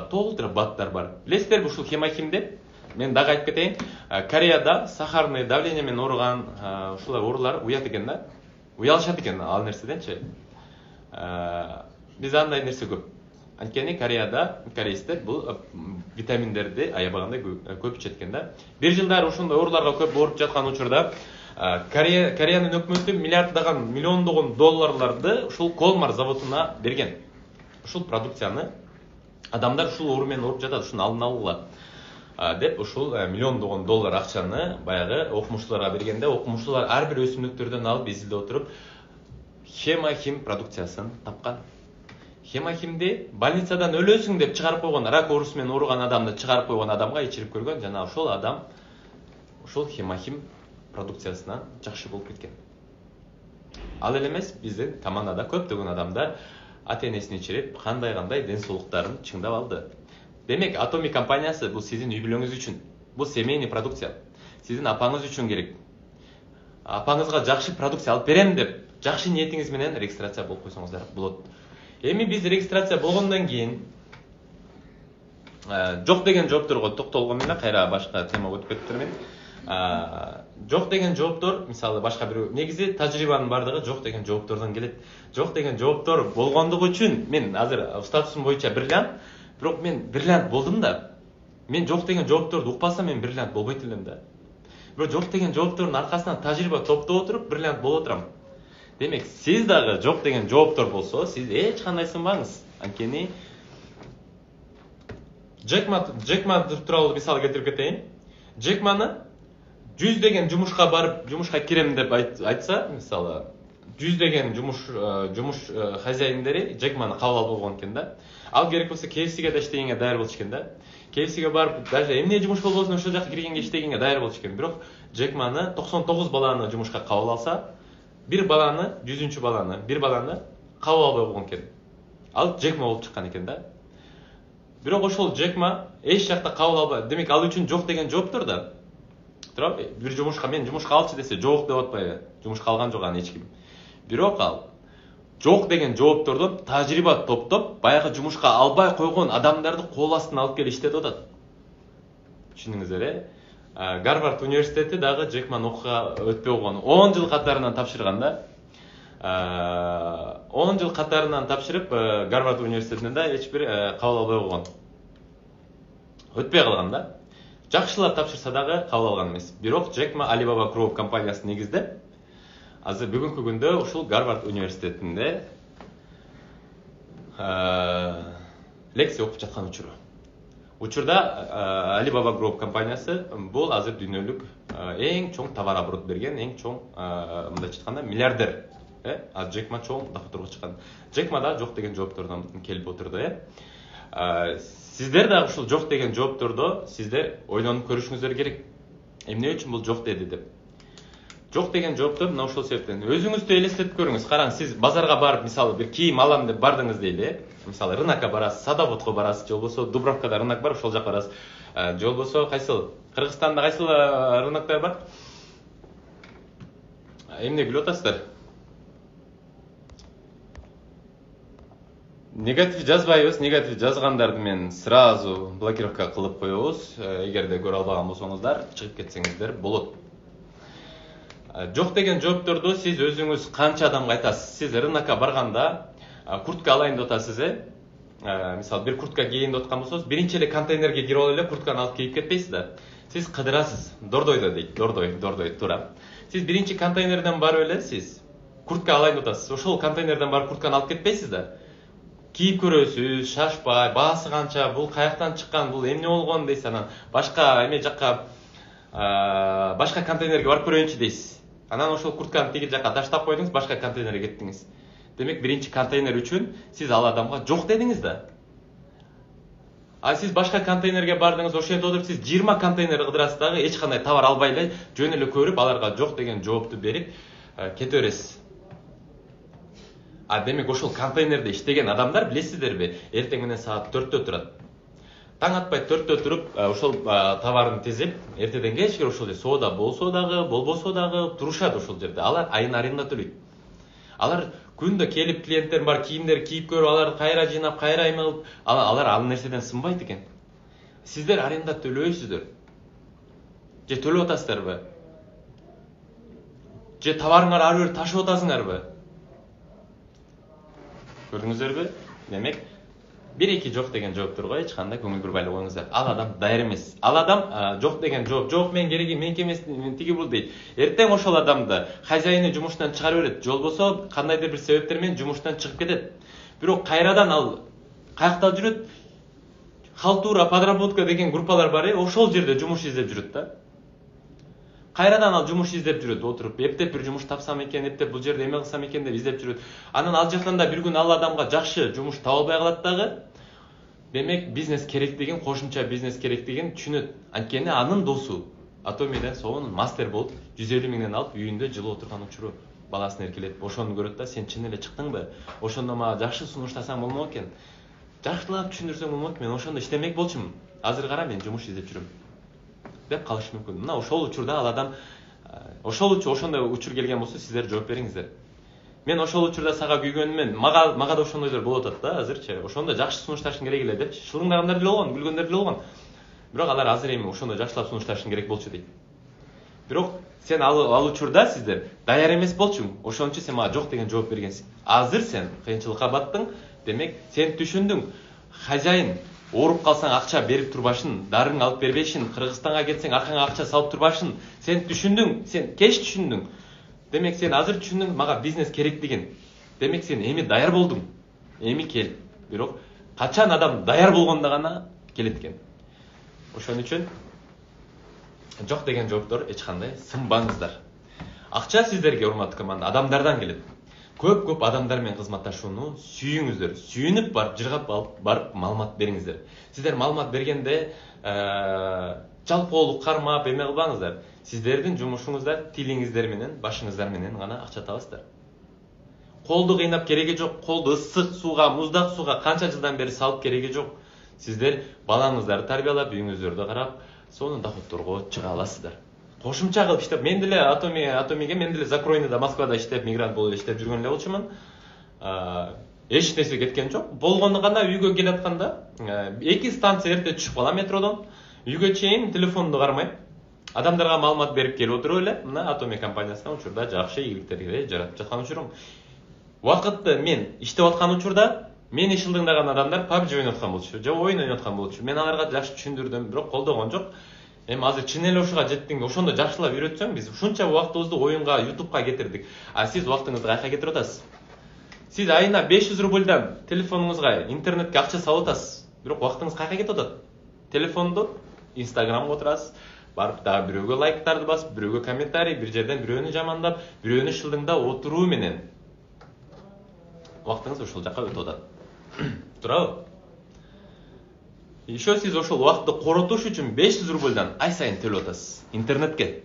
толтура баттар бар. Билесиздерби ушул хемахимди? Мен дагы айтып кетейин. Кореяда сахарный давление менен ооруган ушулар оорулар уят экен да. Уялышат экен ал нерседенчи. Биз андай нерсе көп. Анткени Кореяда корейстер бул витаминдерди аябагандай көп ичет экен да. Бир жылдары ушундай ооруларга көп ооруп жаткан учурда Кореянын өкмөтү миллиарддаган, миллиондогон долларларды ушул Колмар заводуна берген. Ушул продукцияны адамдар ушул оору менен ооруп жатат, ушуну алдын алууга деп ушул миллиондогон доллар акчаны баягы окумуштууларга бергенде, окумуштуулар ар бир өсүмдүктөрдөн алып изилдеп отуруп хемахим продукциясын тапкан. Хемахимди больницадан өлөсүң деп чыгарып койгон, рак оорусу менен ооруган адамды чыгарып койгон адамга ичирип көргөн, жана ошол адам ушул хемахим продукциясынан жакшы болуп кеткен. Ал эле эмес, биздин командада көптөгөн адамдар ата-энесин ичирип, кандай ден соолуктарын чыңдап алды. Демек, Атоми компаниясы бул сиздин үй бүлөңүз үчүн. Бул семейный продукция. Сиздин апаңыз үчүн керек. Апаңызга жакшы продукция алып берем деп, жакшы ниетиңиз менен регистрация болуп койсоңуздар болот. Эми биз регистрация болгондон кийин жок деген жоопторго токтолгон менен кайра башка темага өтүп кетиптирмин. Жок деген жооптор, мисалы башка бирөө, негизи тажрыйбанын бардыгы жок деген жооптордон келет. Жок деген жооптор болгондугу үчүн мен азыр статусум боюнча бриллиант, бирок мен бриллиант болдум да. Мен жок деген жоопторду укпасам мен бриллиант болбойт элем да. Бирок жок деген жооптордун аркасынан тажрыйба топтоп отуруп бриллиант болуп отурам. Демек, сиз дагы жок деген жооптор болсо, сиз эч кандай сынбаңыз. Анткени Джек Ма тууралуу мисал келтирип кетейин. Джек Маны 100 жумушка барып, жумушка кирем деп айтса, мисалы, 100 жумуш хозяиндери Джек Маны кабыл алып болгон экен да. Ал керек болсо KFC-ге да иштегенге даяр болчу экен да. KFC-ге барып, даже эмне жумуш болбосун ошол жака киргенге иштегенге даяр болчу экен. Бирок Джек Маны 99 баланы жумушка кабыл алса, bir баланы кабыл албай койгон экен. Ал Джек Ма болуп чыккан экен да. Бирок ошол Джек Ма эч жакта кабыл албай, демек ал үчүн жок деген жооптур да. Туурабы? Бир жумушка мен жумушка алчы десе жок деп атпайбы? Жумушка алган жок аны эч ким. Бирок ал жок деген жооптордон тажрыйба топтоп, баягы жумушка албай койгон адамдарды кол астына алып келип иштетип атат. Түшүндүңүздөр, Гарвард университети дагы Джек Маны окууга өтпөй койгон. 10 жыл катарынан тапшырган да. 10 жыл катарынан тапшырып, Гарвард университетинен да эч бир кабыл албай койгон. Өтпөй калган да. Жакшылап тапшырса дагы кабыл алган эмес. Бирок Джек Ма Alibaba Group компаниясын негиздеп, азыр бүгүнкү күндө ушул Гарвард университетинде лекция окуп жаткан учуру. Учурда Alibaba Group компаниясы бул азыр дүйнөлүк эң чоң товар оборот берген, эң чоң мындайча айтканда миллиардер. А Джек Ма чоң доходторго чыккан. Джек Ма да жок деген жооптордон келип отурду. Сиздер дагы ушул жок деген жооптордо сиздер ойлонуп көрүшүңүздөр керек. Эмне үчүн бул жок деди деп. Жок деген жооптор мына ошол себептен. Өзүңүздү элестетип көрүңүз. Караң, сиз базарга барып, мисалы, бир кийим алам деп бардыңыз дейли. Мисалы, рынокко барасыз, Садоводко барасыз, же болбосо Дубровкада рынок бар, ошол жака барасыз. Же болбосо кайсыл? Кыргызстанда кайсыл рыноктор бар? Эмне билип атасыздар? Негатив жазбайбыз, негатив жазгандарды мен сразу блокировка кылып коебуз. Эгерде көрө албаган болсоңуздар, чыгып кетсеңиздер болот. Жок деген жоопторду сиз өзүңүз канча адамга айтасыз? Сиз рынокко барганда куртка алайын деп атасыз, мисалы, бир куртка кийейин деп аткан болсоңуз, биринчи эле контейнерге кирип алып эле куртканы алып кийип кетпейсиз да. Сиз кыдырасыз. Дордойдо дейт, дордой, туура. Сиз биринчи контейнерден барып эле сиз куртка алайын деп атасыз. Ошол контейнерден барып куртканы алып кетпейсиз да. Кийип көрөсүз, шашпай, баасы канча, бул каяктан чыккан, бул эмне болгон дейсиз, анан башка эме жакка башка контейнерге барып көрөйүнчү дейсиз. Анан ошол куртканы тиги жака таштап койдуңуз, башка контейнерге кеттиңиз. Демек, биринчи контейнер үчүн сиз ал адамга жок дедиңиз да. А сиз башка контейнерге бардыңыз, ошентип отуруп сиз 20 контейнер кыдырасыз дагы, эч кандай товар албай эле, жөн эле көрүп, аларга жок деген жоопту берип кете бересиз. Демек, ошол контейнерде иштеген адамдар, билесиздерби, эртең менен саат 4-тө турат. Таң атпай 4-тө туруп, ошол товарын тизип, эртеден кечке ошол соода болсо дагы, болбосо дагы турушат ошол жерде. Алар айына аренда төлөйт. Алар күндө келип клиенттер бар, кийимдер кийип көрүп, аларды кайра жыйнап, кайра эме кылып, алар ал нерседен сынбайт экен. Сиздер аренда төлөйсүздөр. Же төлөп атасыздарбы? Же товарыңар ар бир ташып атасыңарбы? Көрдүңүздөрбү? Демек, 1-2 жок деген жоопторго эч кандай көңүл бурбай эле коюңуздар. Ал адам даяр эмес. Ал адам жок деген жооп, жок мен кереги, меники эмес, мен тиги бул дейт. Эртең ошол адамды хозяйыны жумуштан чыгарып берет, же болбосо кандайдыр бир себептер менен жумуштан чыгып кетет. Бирок кайрадан ал каякта жүрөт? Халтура, подработка деген группалар бар, ошол жерде жумуш издеп жүрөт да. Кайрадан ал жумуш издеп жүрөт, отуруп, эптеп бир жумуш тапсам экен, эптеп бул жерде эме кылсам экен деп издеп жүрөт. Анан ал жактан да бир күн ал адамга жакшы жумуш таба албай калат дагы. Демек, бизнес керектигин, кошумча бизнес керектигин түшүнөт. Анткени анын досу Атомиден сонун мастер болуп, 150 миңден алып, үйүндө жылы отурган учуру баласын эркелетип, ошону көрөт да, сен чын эле чыктыңбы? Ошондо мага жакшы сунуштасаң болмок экен. Жакшылап түшүндүрсөң болмок, мен ошондо иштемек болчумун. Азыр кара, мен жумуш издеп жүрөм. Деп калышы мүмкүн. Мына ошол учурда ал адам ошондой учур келген болсо, сиздер жооп бериңиздер. Мен ошол учурда сага күйгөнүмөн, мага да ошондойлор болуп атат да, азырчы. Ошондо жакшы сунушташың керек эле деп, шылыңдагандар деле болгон, күлгөндөр деле болгон. Бирок алар азыр эми ошондо жакшылап сунушташың керек болчу дейт. Бирок сен ал учурда сиздер даяр эмес болчуң. Ошон үчүн сен мага жок деген жооп бергенсиң. Азыр сен кыйынчылыкка баттың, демек сен түшүндүң. Хозяин ооруп калсаң акча берип турбашын, дарың алып бербешин, Кыргызстанга кетсең аркаңа акча салып турбашын. Сен түшүндүң, сен кеч түшүндүң. Демек сен азыр түшүндүң мага бизнес керектигин. Демек сен эми даяр болдуң. Эми кел. Бирок качан адам даяр болгондо гана келет экен. Ошон үчүн жок деген жооптор эч кандай сынбаңыздар. Акча сиздерге, урматтуу команда, адамдардан келет. Көп адамдар менен кызматташууну сүйүңүздөр. Сүйүнүп барып, жыргап барып маалымат бериңиздер. Сиздер маалымат бергенде жалпоолук кармап эме кылбаңыздар. Сиздердин жумушуңузда тилиңиздер менен, башыңыздар менен гана акча табасыздар. Колду кыйнап кереги жок. Колду ысык сууга, муздак сууга канча жылдан бери салып кереги жок. Сиздер балаңыздарды тарбиялап, үйүңүздөрдү карап, сонун доходторго чыга аласыздар. Кошумча кылып иштеп, мен деле Атомиге мен деле Закройныда, Москвада иштеп, мигрант болуп иштеп жүргөн эле болчумун. Эч нерсе кеткен жок. Болгону гана үйгө келатканда 2 станция эрте түшүп калам метродон. Үйгө чейин телефонду кармайм. Адамдарга маалымат берип келип отуруп эле, мына Атоми компаниясынан учурда жакшы ийгиликтерди жаратып жаткан учурум. Убакытты мен иштеп аткан учурда мени шылдыңдаган адамдар PUBG ойноп аткан болчу, же оюн ойноп аткан болчу. Мен аларга жакшы түшүндүрдүм, бирок колдогон жок. Эми азыр чын эле ушуга жеттиң, ошондо жакшылап үйрөтсөң, биз ушунча убактыбызды оюнга, YouTubeга кетирдик. А сиз убактыңызды кайка кетирип атасыз? Сиз айына 500 рубльдан телефонуңузга, интернетке акча салып атасыз. Бирок убактыңыз кайка кетип атат? Телефонду Instagramга отурасыз, барып дагы бирөөгө лайктарды басып, бирөөгө комментарий, бир жерден бирөөнү жамандап, бирөөнү шылдыңдап отуруу менен убактыңыз ошол жакка өтүп атат. Туурабы? Еще сиз ошол убакытты коротуш үчүн 500 рубльдан ай сайын төлөп атасыз интернетке.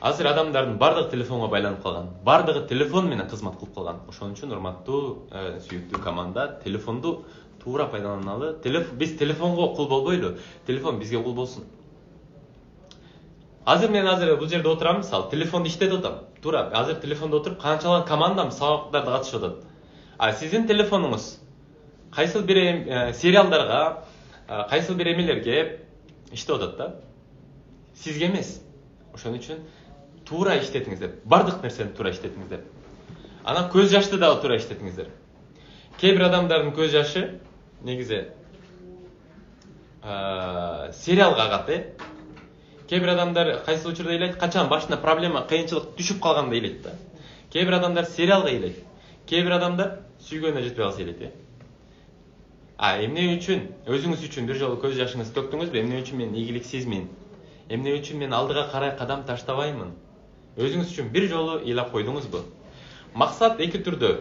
Азыр адамдардын бардыгы телефонго байланып калган. Бардыгы телефон менен кызмат кылып калган. Ошон үчүн урматтуу, сүйүктүү команда, телефонду туура пайдаланалы. Биз телефонго кул болбойлу, телефон бизге кул болсун. Азыр мен бул жерде отурам, мисалы, телефонду иштетип атам. Туура, азыр телефондо отуруп канчалаган командам сабактарда катышып атат. А сиздин телефонуңуз кайсыл бир сериалдарга, кайсыл бир эмелерге иштеп атат да. Сизге эмес. Ошон үчүн туура иштетиңиздер. Бардык нерсени туура иштетиңиздер. Анан көз жашты дагы туура иштетиңиздер. Кээ бир адамдардын көз жашы негизи сериалга агат, Кээ бир адамдар кайсы учурда ыйлайт, качан башына проблема, кыйынчылык түшүп калганда ыйлайт да. Кээ бир адамдар сериалга ыйлайт. Кээ бир адамдар сүйгөнүнө жетпей калса ыйлайт. Эмне үчүн өзүңүз үчүн бир жолу көз жашыңызды төктүңүзбү? Эмне үчүн мен ийгиликсизмин? Эмне үчүн мен алдыга карай кадам таштабаймын? Өзүңүз үчүн бир жолу ыйлап койдуңузбу? Максат эки түрдө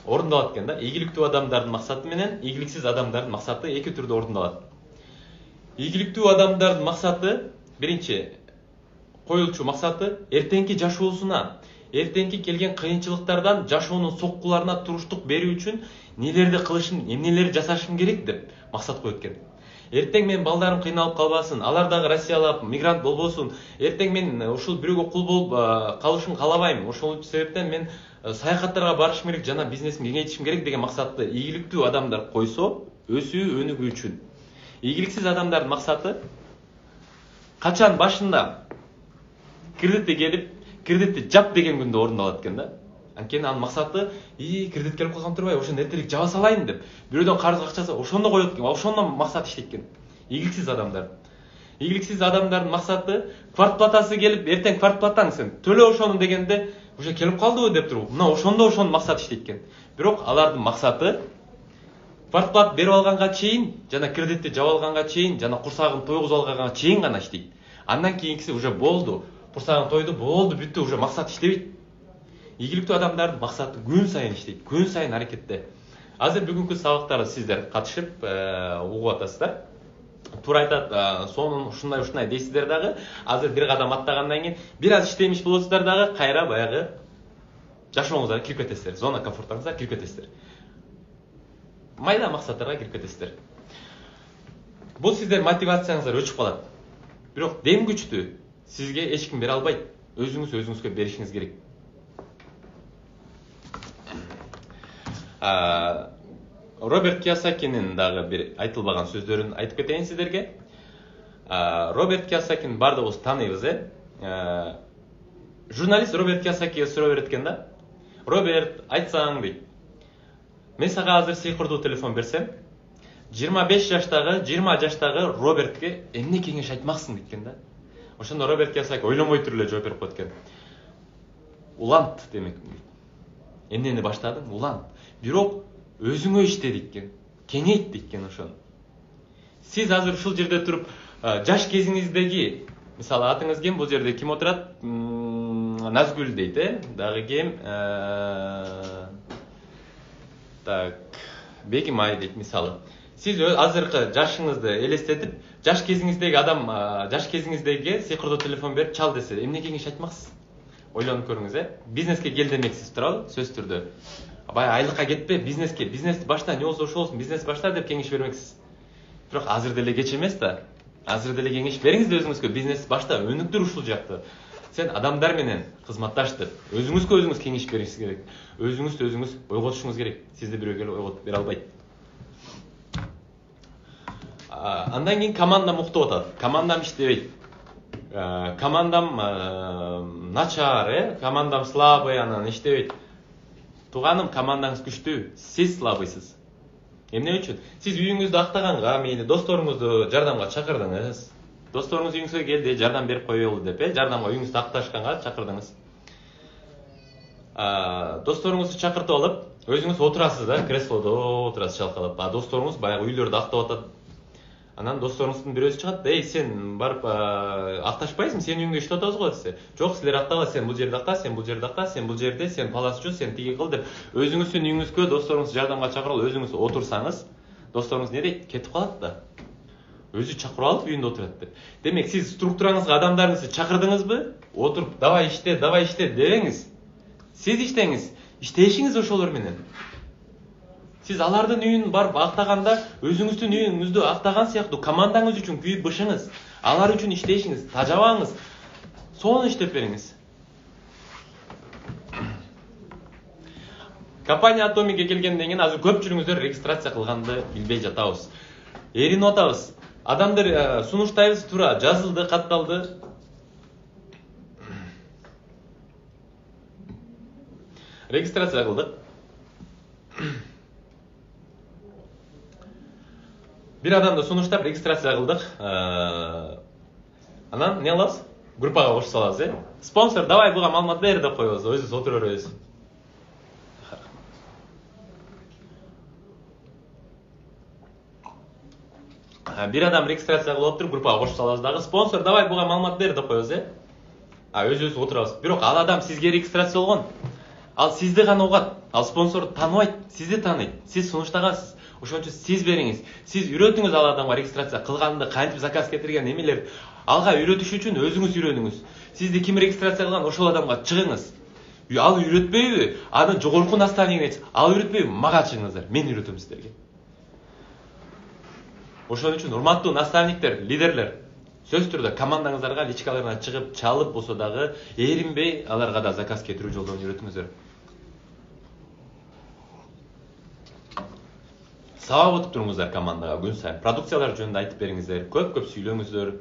орундалат экен да. Ийгиликтүү адамдардын максаты менен ийгиликсиз адамдардын максаты эки түрдө орундалат. Ийгиликтүү адамдардын максаты биринчи коюлчу максаты эртеңки жашоосуна, эртеңки келген кыйынчылыктардан жашоонун соккуларына туруштук берүү үчүн нелерди кылышым, эмнелерди жасашым керек деп максат коет экен. Эртең мен балдарым кыйналып калбасын, алар дагы Россиялап мигрант болбосун. Эртең мен ушул бирөөгө кул болуп калышын каалабайм. Ошол себептен мен саякаттарга барышым керек, жана бизнесимди кеңейтишим керек деген максатты ийгиликтүү адамдар койсо, өсүү өнүгүү үчүн. Ийгиликсиз адамдардын максаты качан башында кредити келип, кредитти жап деген күндө орундалат экен да. Анткени анын максаты кредит келип калган турбайбы, ошону эртерээк жаба салайын деп. Бирөөдөн карыз акчасы ошондо коет экен, ошондон максат иштейт экен. Ийгиликсиз адамдар. Ийгиликсиз адамдардын максаты квартплатасы келип, эртең квартплатаң сен төлө ошону дегенде уже келип калдыбы деп туруп, мына ошондо ошонун максат иштейт экен. Бирок алардын максаты квартплат берип алганга чейин, жана кредитти жаба алганга чейин, жана курсагын тойгузуп алганга чейин гана иштейт. Андан кийинкиси уже болду. Курсагын тойду, болду, бүттү, уже максат иштебейт. Ийгиликтүү адамдардын максаты күн сайын иштейт, күн сайын аракетте. Азыр бүгүнкү сабактарда сиздер катышып угуп атасыздар. Туура айтат, сонун ушундай дейсиздер дагы. Азыр бир кадам аттагандан кийин бир аз иштемиш болосуздар дагы, кайра баягы жашооңузга кирип кетесиздер, зона комфортуңузга кирип кетесиздер. Майда максаттарга кирип кетесиздер. Бул сиздер мотивацияңыздар өчүп калат. Бирок дем күчтү сизге эч ким бере албайт. Өзүңүз өзүңүзгө беришиңиз керек. Роберт Кийосакинин дагы бир айтылбаган сөздөрүн айтып кетейин сиздерге. Роберт Кийосакин бардыгыбыз тааныйбыз, Журналист Роберт Кийосакиге суроо берет экен да. Роберт, айтсаң дейт. Мен сага азыр сыйкырдуу телефон берсем, 25 жаштагы, 20 жаштагы Робертке эмне кеңеш айтмаксың дейт экен да. Ошондо Роберт Кийосаки ойлонбой туруп эле жооп берип коет экен. Улант демек дейт. Эмнени баштадың? Улант. Бирок өзүңө иште дейт экен. Кеңейт дейт экен ошону. Сиз азыр ушул жерде туруп жаш кезиңиздеги, мисалы атыңыз кем, бул жерде ким отурат? Назгүл дейт, дагы кем? Так, Бегимай дейт мисалы. Сиз азыркы жашыңызды элестетип, жаш кезиңиздеги адам, жаш кезиңиздеги сыйкырдуу телефон берип чал десе, эмне кеңеш айтмаксыз? Ойлонуп көрүңүз, Бизнеске кел демексиз, туурабы? Сөз түрдө. Баягы айлыкка кетпе, бизнеске, бизнести башта, не болсо ошол болсун, бизнес башта деп кеңеш бермексиз. Бирок азыр деле кеч эмес да. Азыр деле кеңеш бериңиз да өзүңүзгө, бизнес башта, өнүктүр ушул жакты. Сен адамдар менен кызматташ деп, өзүңүз кеңеш бериңиз керек. Өзүңүз ойготушуңуз керек. Сизди бирөө келип ойготуп бере албайт. Андан кийин командам уктуп атат. Командам иштебейт. Командам начар, командам слабый, анан иштебейт. Тууганым, командаңыз күчтүү, сиз слабыйсыз. Эмне үчүн? Сиз үйүңүздү актаганга, мейли досторуңузду жардамга чакырдыңыз. Досторуңуз үйүңүзгө келди, жардам берип коелу деп, жардамга үйүңүздү акташканга чакырдыңыз. Досторуңузду чакыртып алып, өзүңүз отурасыз да, креслодо отурасыз чалкалап. Досторуңуз баягы үйлөрдү актап атат. Анан досторуңуздун бирөөсү чыгат, сен барып акташпайсың, сен үйүңдө иштеп атабыз го десе. Жок, силер актагыла, сен бул жерде акта, сен бул жерде акта, сен бул жерде, сен паласчы, сен тиги кыл деп, өзүңүздүн үйүңүзгө досторуңузду жардамга чакырып, өзүңүз отурсаңыз, досторуңуз не дейт? Кетип калат да. Өзү чакырып алып үйүндө отурат деп. Демек, сиз структураңызга адамдарыңызды чакырдыңызбы? Отуруп, давай иште дебеңиз. Сиз иштеңиз, иштешиңиз ошолор менен. Сиз алардын үйүн барып актаганда, өзүңүздүн үйүңүздү актаган сыяктуу командаңыз үчүн күйүп бышыңыз, алар үчүн иштешиңиз, тажабаңыз, сону иштеп бериңиз. Компания Атомикке келгенден кийин азыр көпчүлүгүңүздөр регистрация кылганды билбей жатабыз. Эринип атабыз. Адамдар сунуштайбыз, туура жазылды, катталды. Регистрация кылдык. Бир адамды сунуштап регистрация кылдык. Анан не кылабыз? Группага кошуп салабыз, Спонсор, давай буга маалымат бер деп коебуз, өзүбүз отура беребиз. Бир адам регистрация кылып отуруп, группага кошуп салабыз дагы. Спонсор, давай буга маалымат бер деп коебуз, өзүбүз отурабыз. Бирок ал адам сизге регистрация болгон. Ал сизди гана угат. Ал спонсорду тааныбайт, сизди тааныйт. Сиз сунуштагансыз. Ошон үчүн сиз бериңиз. Сиз үйрөтүңүз ал адамга регистрация кылганды, кантип заказ кетирген, эмелер. Алга үйрөтүш үчүн өзүңүз үйрөнүңүз. Сизди ким регистрация кылган, ошол адамга чыгыңыз. Ал үйрөтпөйбү? Анын жогорку наставнигине, ал үйрөтпөйбү? Мага чыгыңыздар. Мен үйрөтөм сиздерге. Ошон үчүн урматтуу наставниктер, лидерлер, сөз түрдө командаңыздарга личкаларына чыгып, чалып болсо дагы эринбей аларга да заказ кетирүү жолдорун үйрөтүңүздөр. Сабак өтүп туруңуздар командага күн сайын. Продукциялар жөнүндө айтып бериңиздер, көп сүйлөңүздөр.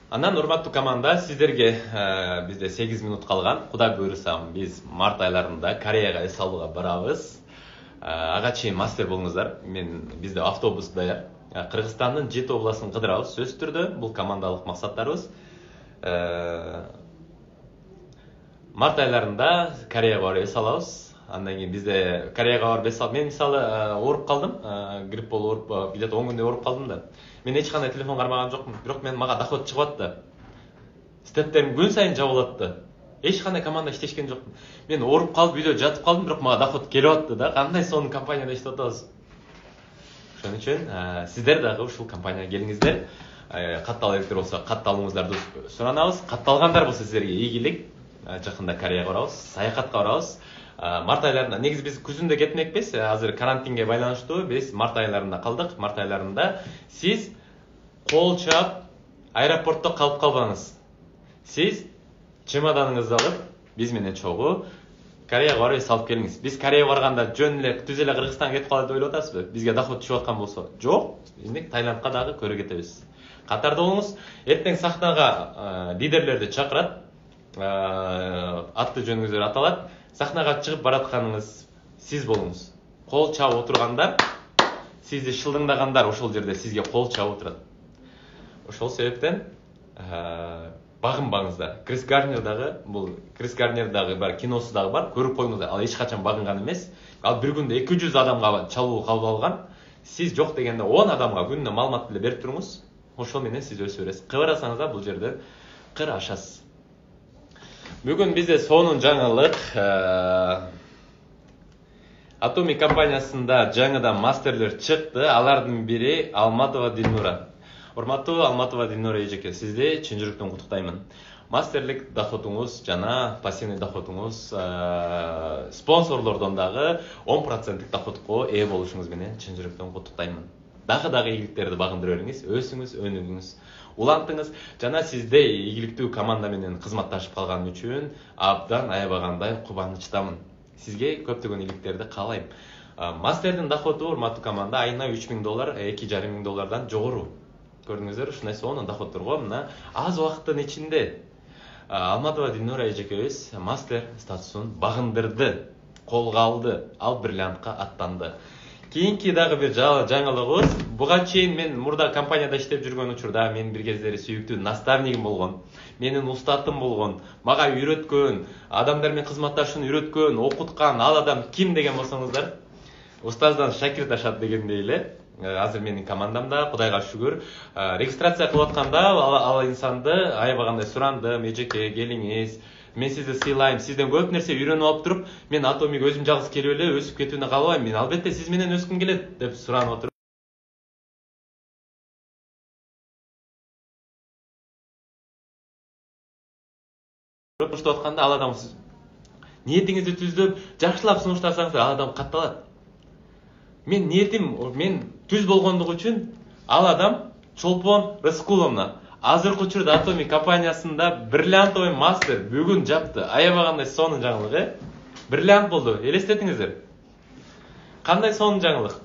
Андан урматтуу команда, сиздерге бизде 8 минут калган. Кудай буйруса, биз март айларында Кореяга эс алууга барабыз. Ага чейин мастер болуңуздар. Бизде автобус даяр. Кыргызстандын 7 областын кыдырабыз, сөз түрдө. Бул командалык максаттарыбыз. Март айларында Кореяга барып эс алабыз. Андан кийин бизде Кореяга барып эс алып, мен мисалы ооруп калдым, грипп болуп ооруп, где-то 10 күндөй ооруп калдым да. Мен эч кандай телефон кармаган жокмун, бирок мага доход чыгып атты. Стептерим күн сайын жабылып атты. Эч кандай команда иштешкен жокмун. Мен ооруп калып, үйдө жатып калдым, бирок мага доход келип атты да. Кандай сонун компанияда иштеп атабыз. Ошон үчүн сиздер дагы ушул компанияга келиңиздер. Каттала электер болсо катталууңуздарды суранабыз. Катталгандар болсо сиздерге ийгилик. Жакында Кореяга барабыз, саякатка барабыз. Март айларында, негизи биз күзүндө кетмекпиз. Азыр карантинге байланыштуу биз март айларында калдык. Март айларында сиз кол чаап аэропортто калып калбаңыз. Сиз чемоданыңызды алып, биз менен чогуу Кореяга барып эс алып келиңиз. Биз Кореяга барганда жөн эле түз эле Кыргызстанга кетип калат деп ойлоп атасызбы? Бизге доход түшүп аткан болсо, жок. Биз Таиландка дагы көрө кетебиз. Катарда болуңуз. Эртең сахнага лидерлерди чакырат. Атты жөнүңүздөр аталат. Сахнага чыгып баратканыңыз сиз болуңуз. Кол чаап отургандар, сизди шылдыңдагандар ошол жерде сизге кол чаап отурат. Ошол себептен багынбаңыздар. Крис Гарнер дагы бар, киносу дагы бар, көрүп коюңуздар. Ал эч качан багынган эмес. Ал бир күндө 200 адамга чалуу кабыл алган. Сиз жок дегенде 10 адамга күнүнө маалымат деле берип туруңуз. Ошол менен сиз өсө бересиз. Кыбырасаңыз да бул жерде кыр ашасыз. Бүгүн бизде сонун жаңылык. Atomic компаниясында жаңыдан мастерлер чыкты. Алардын бири Алматова Дилнура. Урматтуу Алматова Дилнура эжеке, сизди чын жүрөктөн куттуктаймын. Мастерлик доходуңуз жана пассивный доходуңуз спонсорлордон дагы 10% доходко ээ болушуңуз менен чын жүрөктөн куттуктаймын. Дагы ийгиликтерди багындыра бериңиз, өсүңүз, өнүгүңүз, улантыңыз жана сизде ийгиликтүү команда менен кызматташып калган үчүн абдан аябагандай кубанычтамын. Сизге көптөгөн ийгиликтерди каалайм. Мастердин доходу урматтуу команда айына $3000, $2500 жогору. Көрдүңүздөр, ушундай сонун доходторго мына аз убакыттын ичинде Алматова Дилнура эжекебиз мастер статусун багындырды, колго алды, ал бриллиантка аттанды. Кийинки дагы бир жаңылыгыбыз, буга чейин мен мурда компанияда иштеп жүргөн учурда мен бир кездери сүйүктүү наставнигим болгон, менин устатым болгон, мага үйрөткөн, адамдар менен кызматташууну үйрөткөн, окуткан ал адам ким деген болсоңуздар, устаздан шакирт ашат дегендей эле. Азыр менин командамда, Кудайга шүгүр, регистрация кылып атканда ал инсанды аябагандай сурандым, эжеке келиңиз, мен сизди сыйлайм, сизден көп нерсе үйрөнүп алып туруп, мен Atomic өзүм жалгыз келип эле өсүп кетүүнү каалабайм, мен албетте сиз менен өскүм келет деп суранып отуруп. Сунуштап атканда ал адам ниетиңизди түздөп, жакшылап сунуштасаңыз, ал адам катталат. Мен ниетим, мен түз болгондугу үчүн ал адам Чолпон Рыскуловна азыркы учурда Atomic компаниясында бриллиантовый мастер бүгүн жапты. Аябагандай сонун жаңылык, бриллиант болду. Элестетиңиздер. Кандай сонун жаңылык.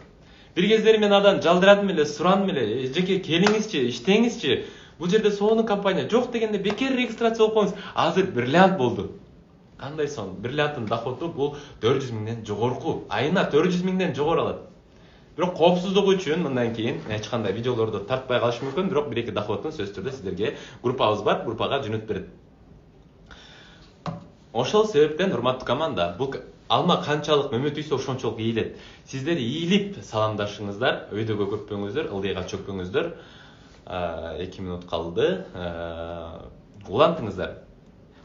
Бир кездери мен адан жалдырадым эле, сурандым эле, эжеке келиңизчи, иштеңизчи. Бул жерде сонун компания жок дегенде бекер регистрация болуп коюңуз. Азыр бриллиант болду. Кандай сонун. Бриллианттын доходу бул 400 миңден жогорку. Айына 400 миңден жогору алат. Бирок коопсуздугу үчүн мындан кийин эч кандай видеолорду тартпай калышы мүмкүн, бирок бир-эки доходун сөзсүз түрдө сиздерге группабыз бар, группага жөнөтүп берет. Ошол себептен урматтуу команда, бул алма канчалык мөмө түйсө ошончолук ийилет. Сиздер ийилип саламдашыңыздар, өйдөгө көппөңүздөр, ылдыйга чөкпөңүздөр. 2 минут калды. Улантыңыздар.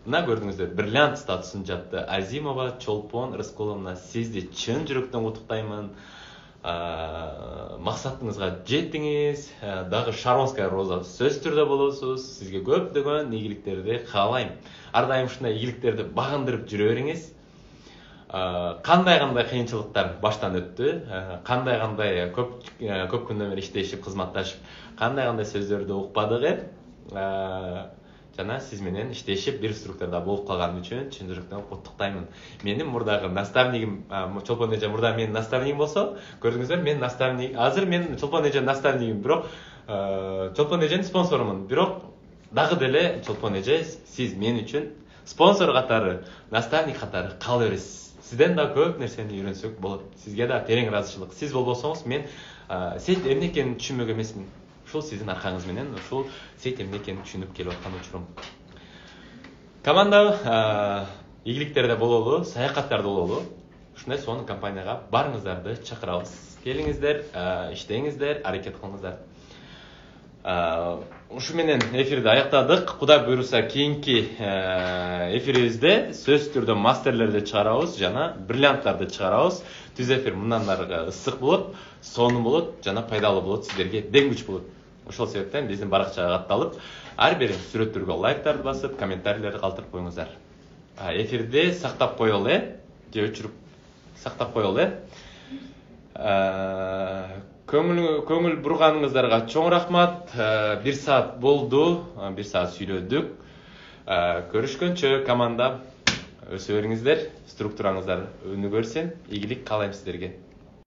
Мына көрдүңүздөр, бриллиант статусун жапты. Азимова Чолпон Рыскуловна, сизди чын жүрөктөн куттуктаймын. Максатыңызга жеттиңиз, дагы Шаронская роза сөзсүз түрдө болосуз. Сизге көптөгөн ийгиликтерди каалайм. Ар дайым ушундай ийгиликтерди багындырып жүрө бериңиз. Кандай кыйынчылыктар баштан өттү, кандай көп күндөн бери иштешип, кызматташып, кандай сөздөрдү укпадык, жана сиз менен иштешип бир структурада болуп калган үчүн чын жүрөктөн куттуктаймын. Менин мурдагы наставнигим, Чолпон эже мурда менин наставнигим болсо, көрдүңүздөр, мен наставник, азыр мен Чолпон эже наставнигим, бирок Чолпон эженин спонсорумун, бирок дагы деле Чолпон эже сиз мен үчүн спонсор катары, наставник катары кала бересиз. Сизден да көп нерсени үйрөнсөк болот. Сизге да терең ыраазычылык. Сиз болбосоңуз мен сет эмне экенин түшүнбөк эмесмин. Ушул сиздин аркаңыз менен ушул сет эмне экенин түшүнүп келип аткан учурум. Команда ийгиликтерде бололу, саякаттарда бололу. Ушундай сонун компанияга барыңыздарды чакырабыз. Келиңиздер, иштеңиздер, аракет кылыңыздар. Ушу менен эфирди аяктадык. Кудай буйруса кийинки эфирибизде сөзсүз түрдө мастерлерди чыгарабыз жана бриллианттарды чыгарабыз. Түз эфир мындан ары ысык болот, сонун болот жана пайдалуу болот, сиздерге дең күч болот. Ошол себептен биздин баракчага катталып, ар бир сүрөттөргө лайктарды басып, комментарийлерди калтырып коюңуздар. Эфирди сактап коелу, же өчүрүп сактап коелу. Көңүл бурганыңыздарга чоң рахмат. 1 саат болду, 1 саат сүйлөдүк. Көрүшкөнчө команда, өсө бериңиздер, структураңыздар өнүгө берсин. Ийгилик каалайм сиздерге.